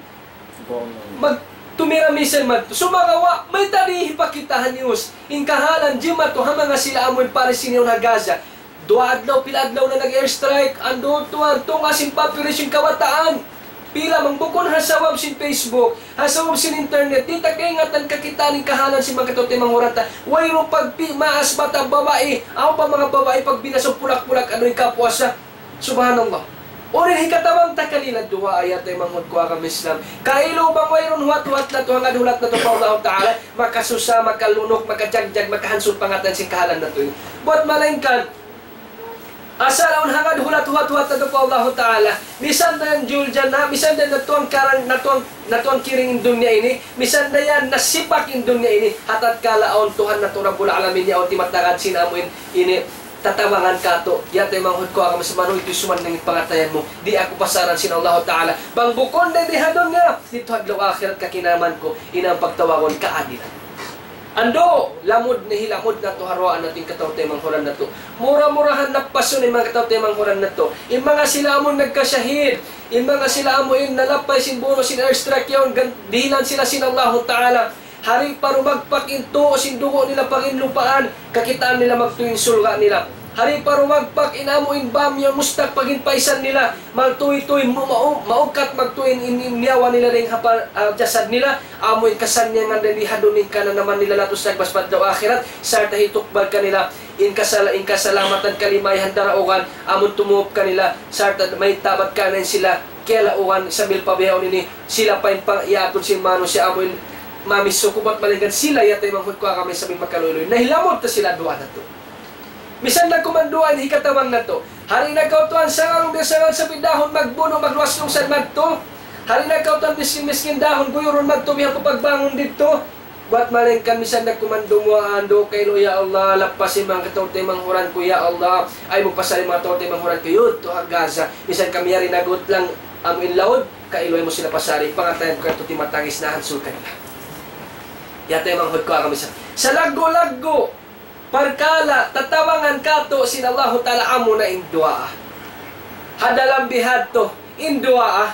magtumira missile madtu. Sumagawa', mayta' di' hipakita ha news in kahalan jimatu ha manga sila amun Palestinian ha Gaza. Duwa adlaw, pila adlaw na nag-airstrike, andu' tuwan, tunga' sin population kabataan. Pila man bukun ha sabab sin Facebook, ha sabab sin internet, di' ta kaingatan kakitaan in kahalan sin manga kataw-taymanghuran ta. Wayruun pagpi-, maas bata' babai, awn pa manga babai pagbinasag pulak-pulak, adu in kapuasa. Subhanallah. Unu in hikatabang ta kanila? Duwaa, ya taymanghud ku ha agama Islam. Kailu bang wayruun huwat-huwat natu', hangad hulat natu' pa Allah Ta'ala, makasusa, makalunuk, makajagjag, makahansut pangatayan sin kahalan natu' ini. Bat malayngkan, asal awn hangad hulat-huwat natu' pa Allah Ta'ala, misan da yan Juljana, misan da yan natuang karang, natuang, natuang kiring in dunya ini, misan da yan nasipak in dunya ini, ha tatkala awn Tuhan natu' Rabbul Alamin, yaun timatagan sin amu in ini, tatabangan katu', ya taymanghud ku ha agama Islam, manuy tuud sumannang in pangatayan mu, di' aku pasaran sin Allah Ta'ala. Bang bukun da di ha dunya, didtu ha adlaw akhirat kakinaman ku, in amu in pagtawagun kaadilan. Andu', lamud na hilamud natu' ha duwaa natu' in kataw-taymanghuran natu'. Mura-murahan lappasun in manga kataw-taymanghuran natu'. In manga sila amun nagkasahid, in manga sila amu in nalapay sin bunu' sin airstrike yaun, gan-, dihilan sila sin Allahu Ta'ala. Hari pa rumagpak in tuu' sin dugu' nila pa ginlupaan, kakitaan nila magtuy in surga' nila. Hari pa rumagpak in amu in bam yaun mustak pa ginpaisan nila, magtuy-tuy, mu-, mau-, maukat magtuy in, in, in nyawa nila dayn ha pa-, ah, jasad nila, amu in kasannyangan dayn di ha dunya in kananaman nila latus nagbas pa adlaw akhirat, sarta' hitukbal kanila in kasala-, in kasalamatan kalimayahan daraugan, amun tumup kanila, sarta' mayta' bat kaniya sila, kiyalaugan sambil pa bihaun ini, sila pa in pang-, iyatud sin manusiya' amu in mamisuk, bat malayngkan sila, ya taymanghud ku ha agama Islam, in makaluyluy. Nahilamud ta sila duwaa natu'. Misan da kuman duwaa in hikatabang natu'. Hari na kaw tuwan sangaun biya' sangaun sapi dahun magbunu', magluwas lungsad madtu. Hari na kaw tuwan miskin-miskin dahun guyurun madtu biya' pa pagbangun didtu. Bat malayngkan misan da kuman dumuwaa andu' kailu, ya Allah, lappas in manga kataw-taymanghuran ku, ya Allah. Ayaw mu pasari manga kataw-taymanghuran ku yadtu ha Gaza. Misan kami yari nag-utang amu in laud, kailu ayaw mu sila pasari, pangatayan ku katu' timatangis na hansul kanila. Ya taymanghud ku ha agama Islam. Salaggu'-laggu' parkala' tatabangan katu' sin Allahu Ta'ala amuna in duwaa. Ha dalam bihadtu, in duwaa.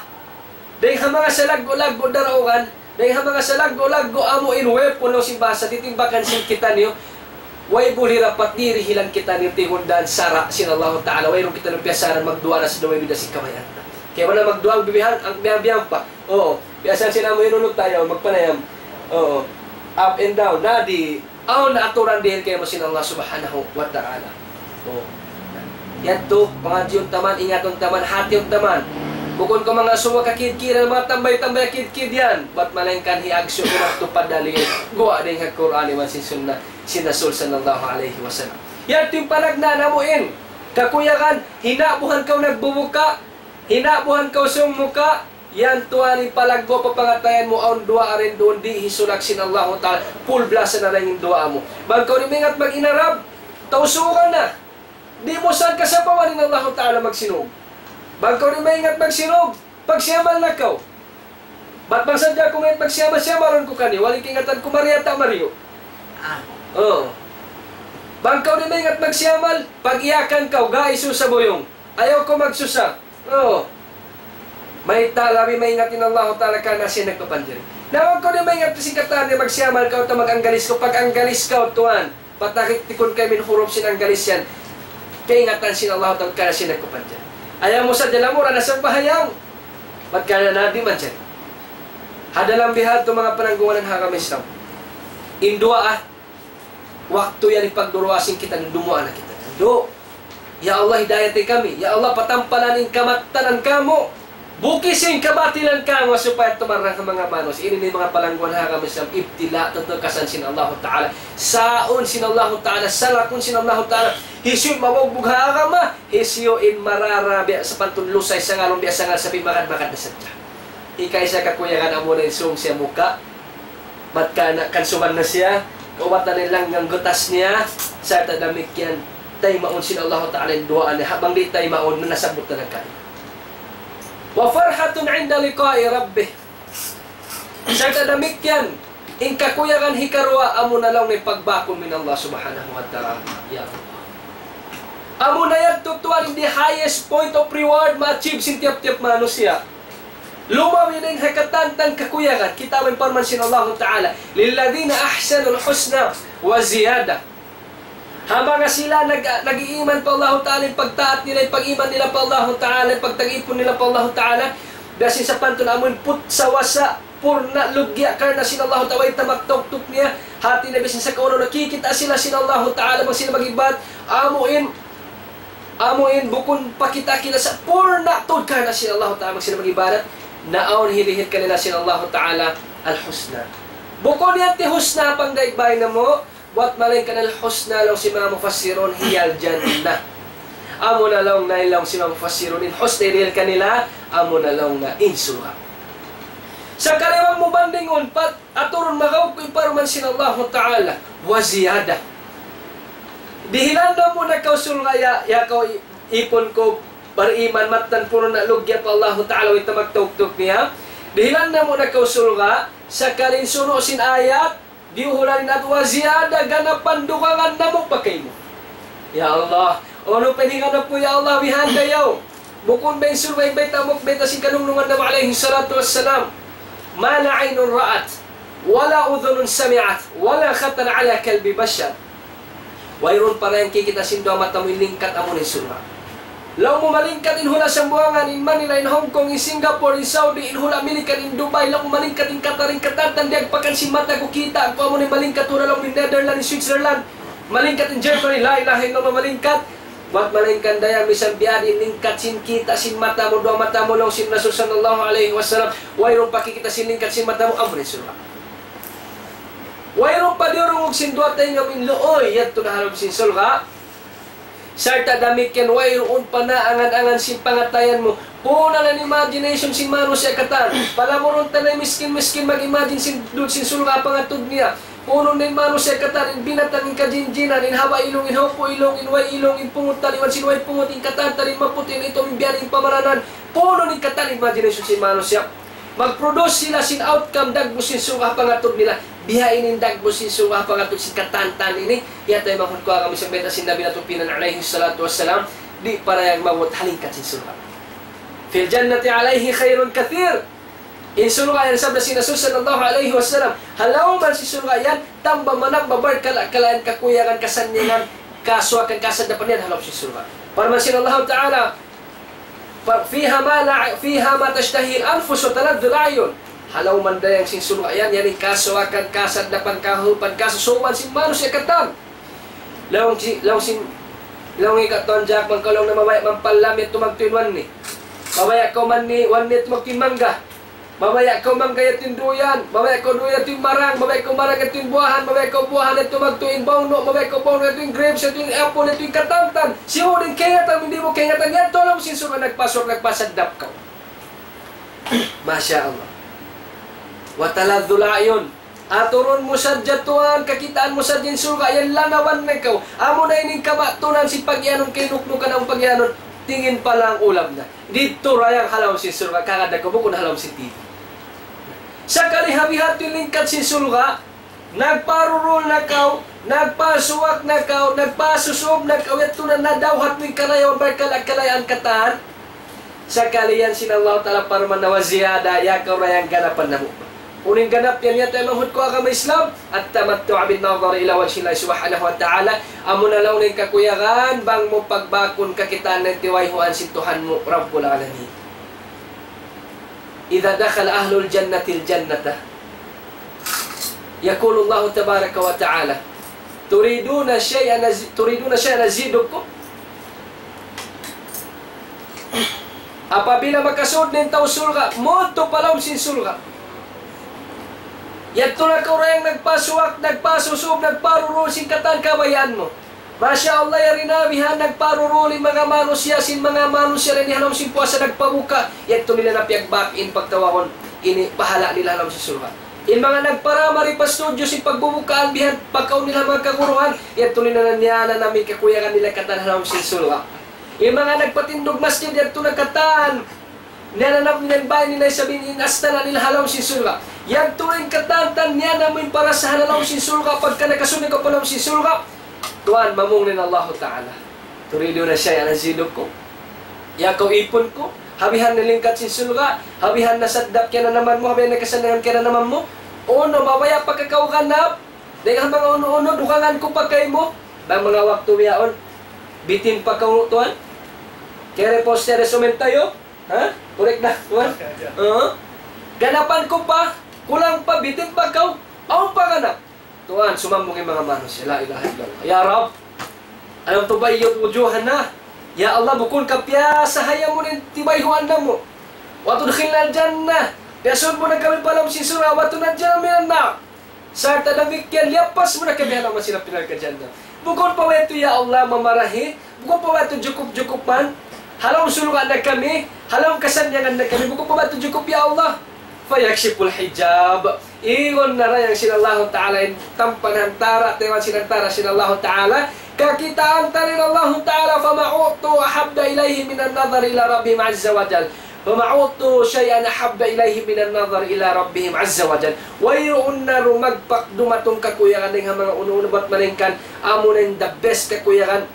Dayn ha manga salaggu'-laggu' daraugan, dayn ha manga salaggu'-laggu' amu in weapon laung sin bahasa, titimbakan sin kitaniyu, way buli rapat dirihilan kitaniyu tihundan sara' sin Allahu Ta'ala, wayruun kitaniyu piyasaran magduwaa na sin way bida sin kabayaan. Kaya wala' magduwaa ang bibihan, ang bihan-bihan pa. Oo, biya' sin amu in unut tayo, magpanayam. Oo, up and down, nadi, awn na aturan dihilan kaymu sin Allah Subhanahu wa Ta'ala. Oh. Yadtu, pangadjiun ta man, ingatun ta man, hatiun ta man. Bukun kaw mangasubu ha kid-kid, manga tambay-tambay kid-kid yan. Bat malaingkan hiagsu' mu madtu pa dalil. Guwa' dayn ha Qur'an iban sin Sunnah sin Rasul sallallahu alayhi wasallam. Yan in panagnaan amu in. Kakuyagan, hinabuhan kaw nagbubuka, hinabuhan kaw sumuka, yan tuwan in palaggu' pa pangatayan mu awn duwaa dayn duun di' hisulak sin Allahu Ta'ala. Full blast na dayn in duwaa mu. Bang kaw di' maingat mag-inarab, tausugan na. Di' mu sa kasapawan in Allahu Ta'ala magsinug. Bang kaw di' maingat magsinug, pagsiyamal na kaw. Bat bang sadja aku maingat pagsiyamal, siyamalun ku kaniyu, wala' kaingatan ku mariyu ta mariyu. Ah. Oo. Bang kaw di' maingat magsiyamal, pag-iyakan kaw, gaisu sa buyung. Ayaw kaw magsusa. Oo. Mayta' labi maingat in Allahu Ta'ala karna' siya nagpapanjari. Na bang kaw di' maingat sin katan niya magsiyamal kaw ta mag-anggalis kaw, pag-anggalis kaw tuwan. Patakik tikun kaymu in hurup sin anggalis yan. Kaingatan sin Allah Ta'ala karna' siya nagpapanjari. Ayaw mu sadja lamura na sambahayang. Bat karna' nabi manjari. Ha dalam bihadtu manga pananggungan ha agama Islam. In duwaa, waktu yan hipagduwaa sin kita, dumuwaa na kita. Do, Ya Allah, hidayati kami. Ya Allah, patampalan in kamattanan kamu'. Bukisi in kabatilan kamu' supaya tumarrang ha manga manusiya'. Ini in manga palangguan ha agama Islam, ibtila, tatukasan sin Allahu Ta'ala. Saun sin Allahu Ta'ala, salakun sin Allahu Ta'ala. Hisiyu in mabugbug ha agama, hisiyu in marara biya' sapantun lusay sangalun biya' sangal sapi' magad-magad na sadja. Ikaisa kakuyagan amuna in sung siya muka'. Bat karna' kansuban na siya, kaubatan in langgang gutas niya, sarta' damikkiyan, taymaun sin Allahu Ta'ala in duwaa niya, ha bang di' taymaun, manasabut na nagkari. وفرحة عند لقاء ربه. Sarta' damikkiyan, in kakuyagan hikaruwa, amuna laung in pagbakun in Allah Subhanahu wa Ta'ala. Ya Allah. Amuna yadtu tuwan in the highest point of reward ma-achieve sin tiyap-tiyap manusiya'. Lumabi dayn ha katantan kakuyagan, kita' mu in parman sin Allahu Ta'ala, للذين أحسنوا الحسنى وزيادة. Ha manga sila nag-, nag-iiman pa Allahu Ta'ala, in pagtaat nila, in pag-iman nila pa Allahu Ta'ala, in pagtag-ipun nila pa Allahu Ta'ala, biya' sin sapantun amun putsa wasa', purna' lugya' karna' sin Allahu Ta'ala, way tamak tuktuk niya, hati na biya' sin sakauna nakikita' sila sin Allahu Ta'ala, bang sila mag-ibadat, amu in, amu in bukun pakita' kila sa' purna' tuud karna' sin Allahu Ta'ala, bang sila mag-ibadat, naawn hilihil kanila sin Allahu Ta'ala, al-husna. Bukun yan ti husna pangdaig bay namu', bat malaingkan al-husna laung sin manga mufassirun hiya al-jannah. Amuna laung na in laung sin manga mufassirun in husna hilihil kanila, amuna laung na in surga'. Sakali bang mu bandingun, pat-, aturun magaw ku in parman sin Allahu Ta'ala, وزيادة. Dihilan namu' na kaw surga' ya, ya kaw i-, ipun ku bariman mattan purna' lugya' pa Allahu Ta'ala, way tamak tuktuk niya. Dihilan namu' na kaw surga', sakali in sunu' sin ayat, diyuhulan in atu وزيادة, ganapan dugangan namu' pa kaymu. Ya Allah, unu pa in higanapu, ya Allah, bihan dayaw. Bukun ba in surga' in bayta' mu, bayta' sin kanungnungan Nabi alayhi salatu wassalam. ما لا عين رأت، ولا أذن سمعت، ولا خطر على قلب بشر. Wayruun pa dayn kikita' sin duwa mata mu in lingkat amu in surga'. Laung mu malingkat in hula' Sambuwangan, in Manila, in Hong Kong, in Singapore, in Saudi, in hula' Amerika, in Dubai, laung mu malingkat in Qatar, in Qatar, tan diyagpakan sin mata ku kita', ku amu in malingkat hula' laung in Netherlands, in Switzerland, malingkat in Germany, la ilaha illallah, malingkat. Bat malaingkan dayaw misan biya' diin in lingkat sin kita' sin mata mu, duwa mata mu, laung sin Rasul sallallahu alayhi wasallam, wayruun pa kikita' sin lingkat sin mata mu, amu in surga'. Wayruun pa diyurungug sin duwa taynga mu in luuy, yadtu na ha lawm sin surga'. Sarta' damikkiyan wayruun pa naangan-angan sin pangatayan mu. Puun na in imagination sin manusiya' katan. Palamurun ta na in miskin-miskin mag-imagine sin dud sin surga' pangatud niya. Puun na in manusiya' katan, in binatang, in kajinjinan, in haba' ilung, in haupu' ilung, in way ilung, in pungut taliwan sin way pungut, in katan, tan in maputi', in itum, in biya' diin in pamaranan. Puun na in katan imagination sin manusiya'. Mag-produce sila sin outcome, dagbus sin surga' pangatud nila. Biya' ini in dagbus sin surga' pangatud sin katantan ini. Yadtu in maksud ku, agama Islam, bayta' sin Nabi natu' piyanan alayhi salatu wassalam, di' parayag maabut ha lingkat sin surga'. في الجنة عليه خير كثير. In surga' yan, sabda sin Rasul sallallahu alayhi wasallam, ha lawm sin surga' yan, tamba manamba barkala'-kala' in kakuyagan, kasannyangan, kasuwakan, kasaddapan yan ha lawm sin surga'. Parman sin Allahu Ta'ala, فيها ما لا، فيها ما تشتهي الأنفس وتلذ الأعين. Ha lawm dayng sin surga' yan, yan in kasuwakan, kasaddapan, kahupan, kasusuban sin manusiya' katan. Laung si, laung sin, laung in katan jak, bang kaw laung na mabaya' mampallam yadtu magtuy in one ni. Mabaya' kaw manni', one minute magtuy mangga. Mabaya' kaw mangga yadtu in duyan. Mabaya' kaw duyan yadtu in marang. Mabaya' kaw marang yadtu in buwahan. Mabaya' kaw buwahan yadtu magtuy in bawnu'. Mabaya' kaw bawnu' yadtu in grapes, yadtu in apple, yadtu in katantan. Siyu' in kaingatan, di' mu kaingatan. Yadtu ha lawm sin surga' nagpasur, nagpasaddap kaw. Masha Allah. وتلذ الأعين. Aturun mu sadja tuwan, kakitaan mu sadja in surga', yan lanawan na kaw. Amu na ini in kabatunan sin pagiyanun, kainuknukan in pagiyanun, tingin pa lang ulam na. Didtu ra yan ha lawm sin surga', kagad na kaw bukun ha lawm sin T V. Sakali ha biha' tu in lingkat sin surga', nagparurul na kaw, nagpasuwak na kaw, nagpasusub na kaw, yadtu na nadawhat mu in karayawan, barkala' kalayaan katan. Sakali yan sin Allah Ta'ala parman na وزيادة, ya kaw ra yan ganapan namu'. Unu in ganap yan, ya taymanghud ku agama Islam, التمتع بالنظر إلى وجه الله سبحانه وتعالى. Amu na laung in kakuyagan, bang mu pagbakun kakitaan na in tiwayhuan sin Tuhan mu, Rabbul Alamin. إذا دخل أهل الجنة الجنة يقول الله تبارك وتعالى: تريدون شيئا أزي-، تريدون شيئا أزيدكم؟ Apabila makasud na in tau surga', mudtu pa lawm sin surga'. Yadtu na kaw ra yan nagpasuwak, nagpasusub, nagparurul sin katan kabayaan mu. Masha Allah, yari na bihan nagparurul in manga manusiya', sin manga manusiya' dayn ha lawm sin puasa nagpabuka', yadtu nila na piyagbak in pagtawagun ini pahala' nila ha lawm sin surga'. In manga nagparamari pa studyo sin pagbubukaan bihan pakaun nila manga kaguruhan, yadtu nila na niyananam in kakuyagan nila katan ha lawm sin surga'. In manga nagpatindug masjid, yadtu na katan niyananam nila in bāy nila isab in astana' nila ha lawm sin surga'. Yadtu in katantan niyananam in parasahan ha lawm sin surga', pagka nakasud na kaw pa lawm sin surga'. Tuwan, mamung in Allahu Ta'ala. تريدون شيئا أزيدكم؟ Ya kaw ipun ku, ha bihan na lingkat sin surga', ha bihan na saddap kiyananaman mu, ha bihan na kasannangan kiyananaman mu. Unu, mabaya' pa ka kaw ganap, dayn ha manga unu-unu, dugangan ku pa kaymu. Bang manga waktu bihaun, bitin pa kaw tuwan. Kere poste resumen tayo. Ha? Correct na, tuwan? Oo. Ganapan ku pa, kulang pa, bitin pa kaw, awn pa ganap. Tuwan, sumambung in manga manusiya', لا إله إلا الله. يا رب، ألم تبيض وجوهنا؟ Ya Allah, bukun ka piyasahaya mu in tibayhuan namu'. وتدخلنا الجنة. Piyasud mu na kami pa lawm sin surga', وتنجينا من النار. Sarta' damikkiyan, liyapas mu na kami ha lawm sin api narka' jahannam. Bukun pa ba yadtu, ya Allah, mamarahi? Bukun pa ba yadtu jukup-jukup man? Ha lawm surga' na kami, ha lawm kasannyangan na kami. Bukun pa ba yadtu jukup, ya Allah? فيكشف الحجاب. Igun na ra yan sin Allahu Ta'ala in tampan hantara', tayman sin hantara' sin Allahu Ta'ala. Kakitaan ta in Allahu Ta'ala, فما أعطوا أحب إليه من النظر إلى ربهم عز وجل. فما أعطوا شيئا أحب إليهم من النظر إلى ربهم عز وجل. Wayruun na dumagpak dumatung kakuyagan dayn ha manga unu-unu bat malaingkan amu na in the best kakuyagan,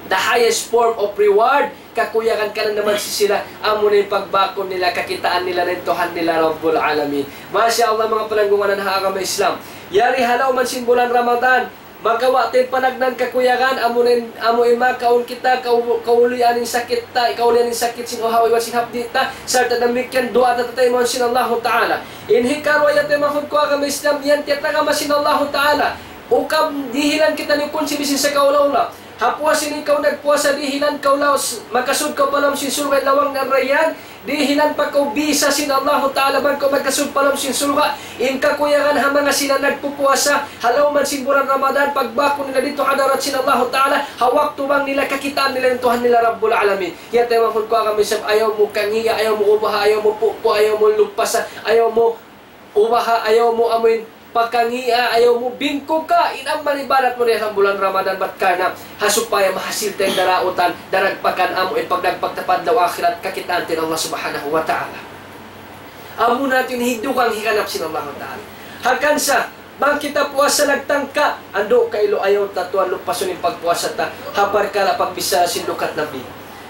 the highest form of reward, kakuyagan kananaman sin sila, amu na in pagbakun nila, kakitaan nila na in Tuhan nila Rabbul Alamin. Masha Allah, manga palanggungan ha agama Islam. Yari ha lawm sin bulan Ramadan, makawa' ta in panagnaan kakuyagan, amu na in, amu in makaun kita, kau-, kaulian in sakit ta, kaulian in sakit sin uhaw iban sin hapdi' ta, sarta' damikkiyan duwaa ta taymaun sin Allahu Ta'ala. In hikaruwa, ya taymanghud ku agama Islam, yan tiyatagama sin Allahu Ta'ala. Ukab dihilan kita ni kunsi bisin sakaula-ula. Ha puas ini kaw nagpuasa, dihilan kaw laus, makasud kaw pa lawm sin surga' lawang na Rayyan, dihilan pa kaw bisa sin Allahu Ta'ala bang kaw makasud pa lawm sin surga'. In kakuyagan ha manga sila nagpupuasa ha lawm sin bulan Ramadan, pagbakun nila didtu ha hadarat sin Allahu Ta'ala, ha waktu bang nila kakitaan nila in Tuhan nila Rabbul Alamin. Ya taymanghud ku agama Islam, ayaw mu kangiya, ayaw mu ubaha, ayaw mu pupu', ayaw mu lupasa, ayaw mu ubaha, ayaw mu amuin pakangiya, ayaw mu bingkuka in amal ibadat mu dayn ha bulan Ramadan, bat karna' ha supaya mahasil ta in darautan, daragpakan amu in pagdagpak ta pa adlaw akhirat, kakitaan ta in Allah Subhanahu wa Ta'ala. Amu na in hidugang higanap sin Allahu Ta'ala. Hangkan sa, bang kita puasa nagtangka, andu' kailu ayaw ta tuwan lupasun in pagpuasa ta, ha parkala' pagbichara sin lukat Nabi.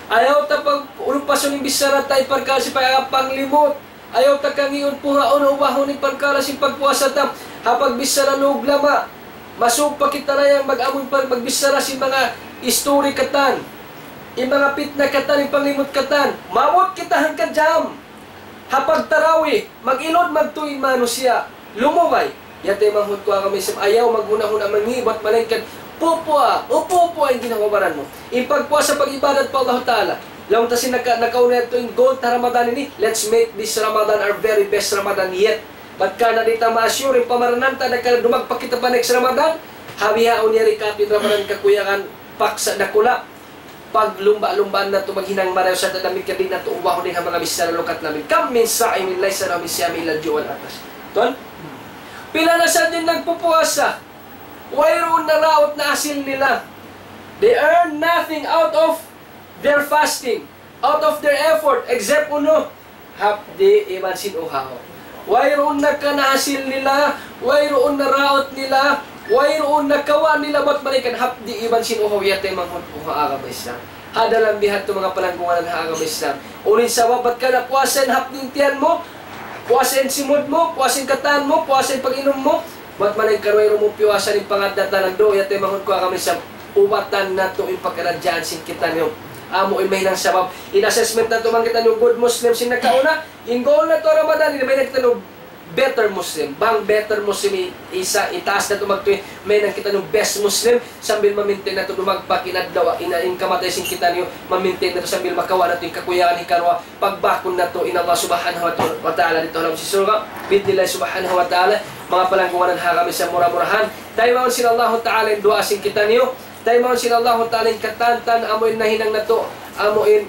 Ayaw ta pag-, lupasun in bichara ta, in parkala' sin pag-, panglimut. Ayaw ta kangiun, puhaun, ubahun in parkala' sin pagpuasa ta. Ha pagbichara lugla ma, masug pa kita na yan mag-amun pa, magbichara sin manga istori katan, in manga pitna katan, in panglimut katan. Maabut kita hangka jam. Ha pagtarawih, mag-ilud magtuy in manusiya'. Lumugay. Ya taymanghud ku agama Islam, ayaw maghuna-huna mangi' bat malaingkan pupua, upu-upua in ginhawa-baran mu. In pagpuasa, pag-ibadat pa Allah Ta'ala. Laung ta sin naka-, nakauna yadtu in goal ta Ramadan ini, let's make this Ramadan our very best Ramadan yet. Bat karna' di' ta ma-assure in pamaranan ta, na karna' dumagpak kita pa next Ramadan, ha bihaun yari katu' in Ramadan kakuyagan, paksa dakula', paglumba'-lumbaan natu' maghinang marayaw sarta' damikkiyan di' natu' ubahun in ha manga bichara lukat namu'. كم من صائم ليس له من صيامه إلا الجوع والعطش. Tuwan? Pila na sadja in nagpupuasa, wayruun na raut na hasil nila. They earn nothing out of their fasting, out of their effort, except unu, hapdi' iban sin uhaw. Wayruun na kanahasil nila, wayruun na raut nila, wayruun na kawa' nila bat malayngkan hapdi' iban sin uhaw, yataymanghud ku ha agama Islam. Ha dalam bihadtu manga palanggungan ha agama Islam. Unu in sabab bat karna' puasa in hapdi' in tiyan mu, puasa in simud mu, puasa in katan mu, puasa in pag-inum mu, bat malayngkan wayruun mu piyuasa in pangaddatan, andu', yataymanghud ku ha agama Islam. Ubatan natu' in pakaradjaan sin kitaniyu. Amu in mahinang sabab. In assessment natu' bang kitaniyu good Muslim sin nakauna, in goal natu' Ramadan, in mahinang kitaniyu better Muslim. Bang better Muslim, i-, isa, itaas natu' magtuy, mahinang kitaniyu best Muslim, sambil ma-maintain natu' dumagpak in adlaw, in, in kamatay sin kitaniyu, ma-maintain natu' sambil makawa' natu' in kakuyagan hikaruwa, pagbakun natu' in Allah Subhanahu wa ta-, wa Ta'ala didtu ha lawm sin surga', bi'idhnillah Subhanahu wa Ta'ala, manga palanggungan ha agama Islam, mura-murahan. Taymaun sin Allah Ta'ala in duwaa sin kitaniyu, taymaun sin Allah Ta'ala in katantan, amu in nahinang natu', amu in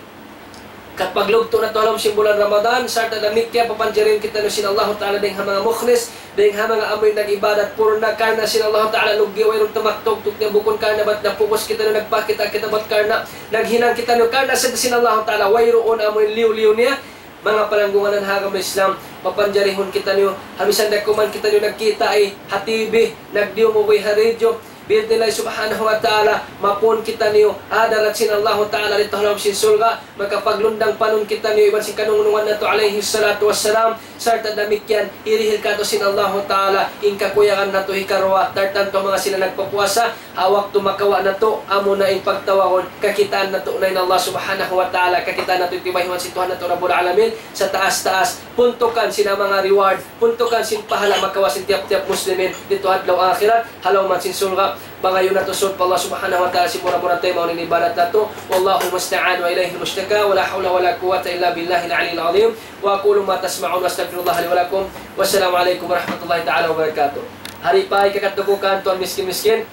kapaglugtu' natu' ha lawm sin bulan Ramadan, sarta' damikkiyan papanjarihan kitaniyu sin Allah Ta'ala dayng ha manga mukhlis, dayng ha manga amu in nag-ibadat purna karna' sin Allah Ta'ala, lugay wayruun ta magtugtug niya bukun karna' bat nagpupus kitaniyu, nagpakita' kita bat karna' naghinang kitaniyu karna' sadja sin Allah Ta'ala, wayruun amu in liyu-liyu niya. Manga palanggungan ha agama Islam, papanjarihun kitaniyu, ha misan da kuman kitaniyu nagkita' ha T V, nagdiyungug ha radio, bi'idhnillah Subhanahu wa Ta'ala, mapun kitaniyu ha hadarat sin Allah Ta'ala didtu ha lawm sin surga', makapaglundang panun kitaniyu iban sin kanungnungan natu' alayhi salatu wassalam, sarta' damikkiyan hirihil katu' sin Allah Ta'ala in kakuyagan natu' hikaruwa, tantu manga sila nagpapuasa, ha waktu makawa' natu', amuna in pagtawagun, kakitaan natu' na in Allah Subhanahu wa Ta'ala, kakitaan natu' in tibayhuan sin Tuhan natu' Rabbul Alamin, sataas-taas, puntukan sin manga reward, puntukan sin pahala' makawa' sin tiyap-tiyap Muslimin, didtu ha adlaw akhirat, ha lawm sin surga', pangayuun natu' sūd pa Allah Subhanahu wa Ta'ala, sin mura-mura taymaun in ibadat natu'. والله المستعان وإليه المشتكى، ولا حول ولا قوة إلا بالله العلي العظيم. وأقول ما تسمعون وأستغفر الله لي ولكم. والسلام عليكم ورحمة الله تعالى وبركاته. Hari pa ikakatukukan, tuwan miskin-miskin.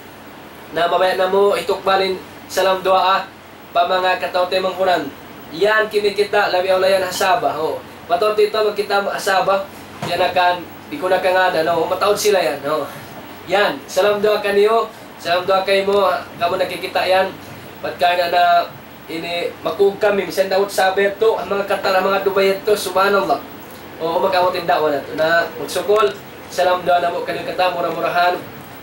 Na mabaya' namu' hitukbal in salam duwaa pa manga kataw-taymanghuran. Yan kimikita', labi awla yan ha Sabah, ho. Mataud kita magkita' ha Sabah, yan akan, di' ku na kangānan, no? Mataud sila yan, no? Yan, salam duwaa kaniyu, salam duwaa kaymu, kamu nakikita' yan. Bat karna' na ini, makug kami, misan daw Sabah yadtu, ha manga Qatar, ha manga Dubai yadtu, subhanallah. O, mag-abut in da'wa natu'. Na, magsukul, salam duwaa namu' kaniyu katan, mura-murahan,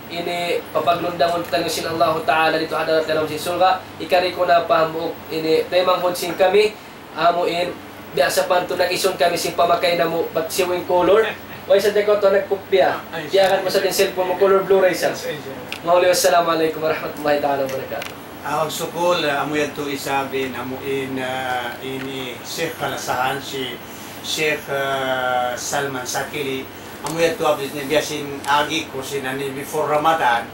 ini, papaglundangun kitaniyu sin Allahu Ta'ala didtu ha hadarat ha lawm sin surga', hikari ku na pa hambuuk, ini, taymanghud sin kami, amu in, biya' sapantun nag-isun kami sin pamakay namu', bat siyu in color, way sa' diyako to nagkupya, Ah, ay, biya' kan sa' mu sa' din cellphone mu, color blue ray sa'. Yes, yes, yes. Mahuli, wassalamu alaykum warahmatullahi ta'ala wabarakatuh. Ah, magsukul, ah, amu yadtu isab in, amu in, ah, ini Sheikh kalasahan, si Sheikh, ah, Salman Sakili. Amu yadtu abis ni biya' sin agi ku sin ani before Ramadan,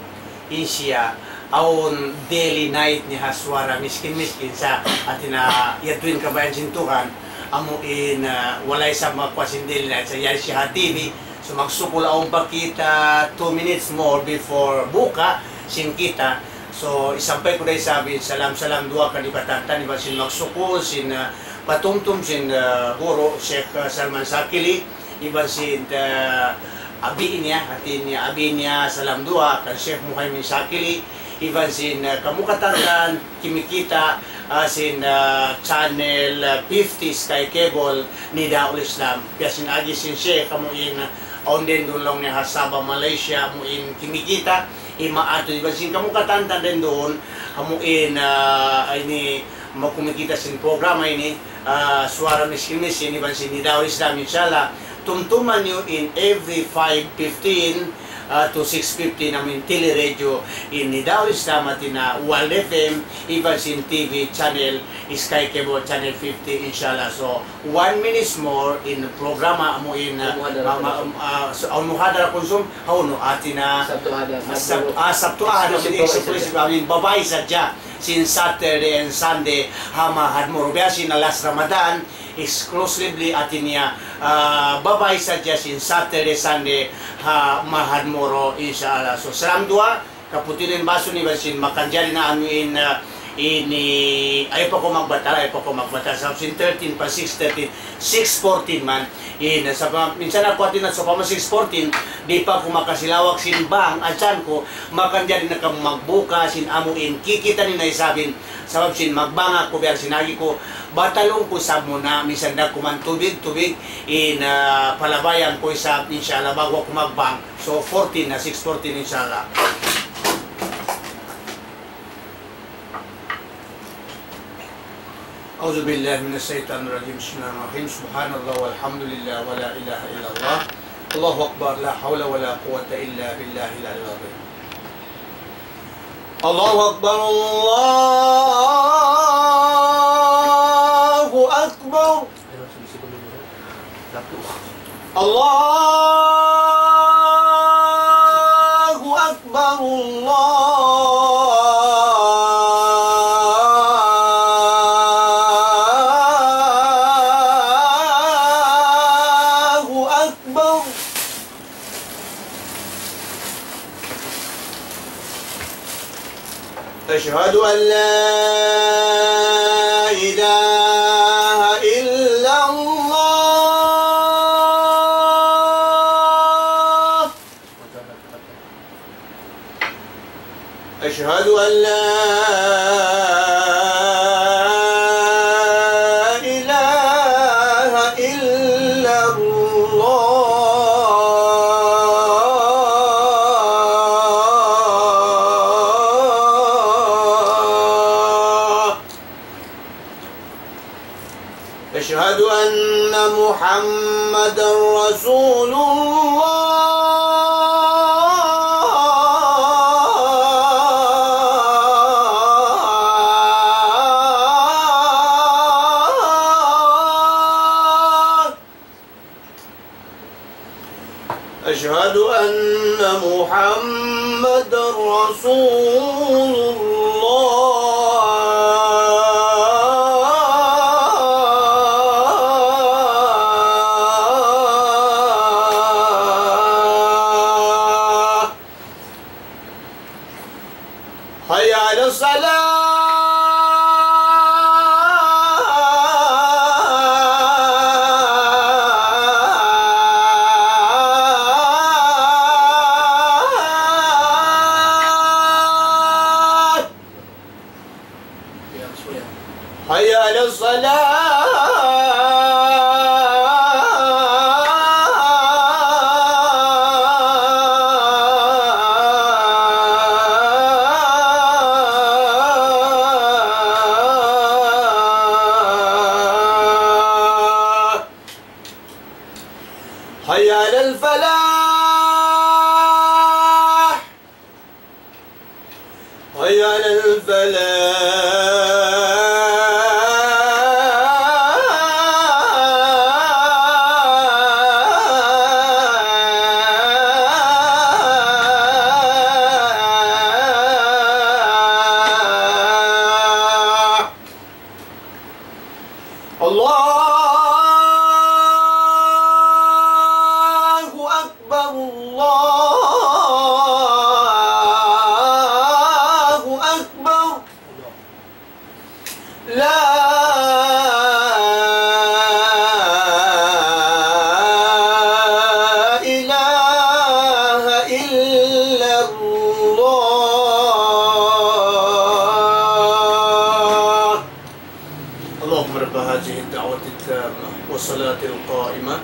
in siya, awn daily night niya ha Suara Miskin Miskin sa', hati niya yadtu in kabayaan sin Tuhan, amu in, ah, wala' isab makuwa' sin daily night sa', yan siya ha T V, so magsukul awn pa kita two minutes more before buka, sin kita, So, isampay ku da isab in salam, salam duwaa kaniyu katan, iban sin magsukul, sin, ah, patumtum, sin, ah, guru, Sheikh, ah, Salman Sakili, iban sin, ah, abi niya, hati niya, abi niya, salam duwaa, kan Sheikh Muhaymin Sakili, iban sin, ah, kamu katan, kimikita', ah, sin, ah, channel, ah, fifty Sky Cable, Nidaul Islam. Biya' sin agi sin Sheikh, amu in, ah, awn din duun laung niya ha Sabah, Malaysia, amu in kimikita', imaatu iban sin kamu katan dayn duun, amu in, ah, ini, makumikita' sin programa ini, ah, Suara Miskin Miskin iban sin Nidaul Islam, inshallah. Tumtuma niyu in every five fifteen, uh, to six fifty in amu in Tele Radio in Nidau Islam, hāti niya World F M, iban sin T V channel, Sky Cable Channel fifty, inshallah. So, one minutes more in programa amu in, uh, Muhadara ma-, ma-, Kunsum. Uh, so, awn muhadara Kunsum, hawnu, hāti niya, Sabtu Ahad, Sab-, Sabtu. Ah, Sabtu Ahad, exclusive exclusive, program. I mean, babai sadja, sin Saturday and Sunday, ha Mahad Moro. Biya' sin last Ramadan, exclusively, hāti niya, ah, babai sadja sin Saturday, Sunday, ha Mahad Moro, inshallah. So, salam duwaa, kaputilan basun iban sin makanjari na amu in, ah, ini, ayaw pa kaw magbatal, ayaw pa kaw magbatal. Sabab sin thirteen pa six, thirteen, six fourteen man. In, sabab, minsan aku hāti niya, sawpama six fourteen, di' pa aku makasilawak sin bang, adjaan ku, makanjari na kamu magbuka sin amu in, kikita' niyu na isab in, sabab sin magbang aku biya' sin agi ku, batalun ku isab muna, minsan da kuman tubig, tubig, in, ah, palabayan ku isab, inshallah, ba'gu aku magbang. So, fourteen na, six fourteen, inshallah. أعوذ بالله من الشيطان الرجيم. بسم الله الرحمن الرحيم. سبحان الله والحمد لله ولا إله إلا الله. الله أكبر. لا حول ولا قوة إلا بالله العلي العظيم. الله أكبر. الله أكبر. الله أكبر. الله أكبر. أشهد أن لا إله إلا الله. أشهد أن لا إله إلا الله. أشهد أن محمدا رسول الله. أشهد أن محمدا رسول الله. حي على الصلاة. حي على الصلاة. حي على الفلاح. حي على الفلاح. الله أكبر، الله أكبر. لا إله إلا الله. اللهم رب هذه الدعوة التامة والصلاة القائمة،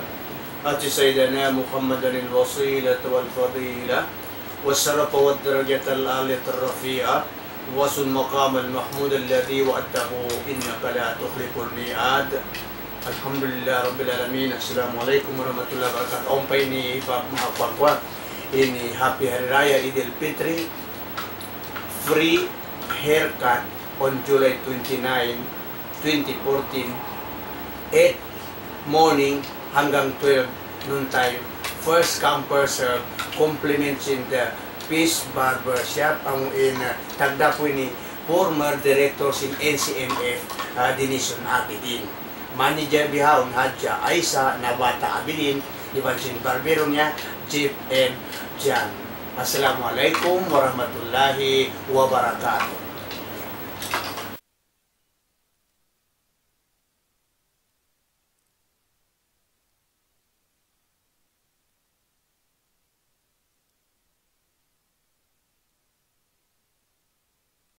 آت سيدنا محمدا الوسيلة والفضيلة والشرف والدرجة العالية الرفيعة وابعثه المقام المحمود الذي وعدته إنك لا تخلف الميعاد. الحمد لله رب العالمين. السلام عليكم ورحمة الله وبركاته. Awn pa ini, Pak, maha kuwan-kuwan. Ini Happy Hari Raya Idul Fitri, free haircut on July twenty-nine, twenty fourteen, eight morning hanggang twelve noon time. First come, first serve, compliments in the Peace Barber Shop, amu in, uh, tagdapu ini former director sin N C M F, uh, Dinisun Abidin. Manager bihaun Hadja Aisa Nabata Abidin, iban sin barbero niya, Jeff M Jan. Assalamualaikum warahmatullahi wabarakatuh.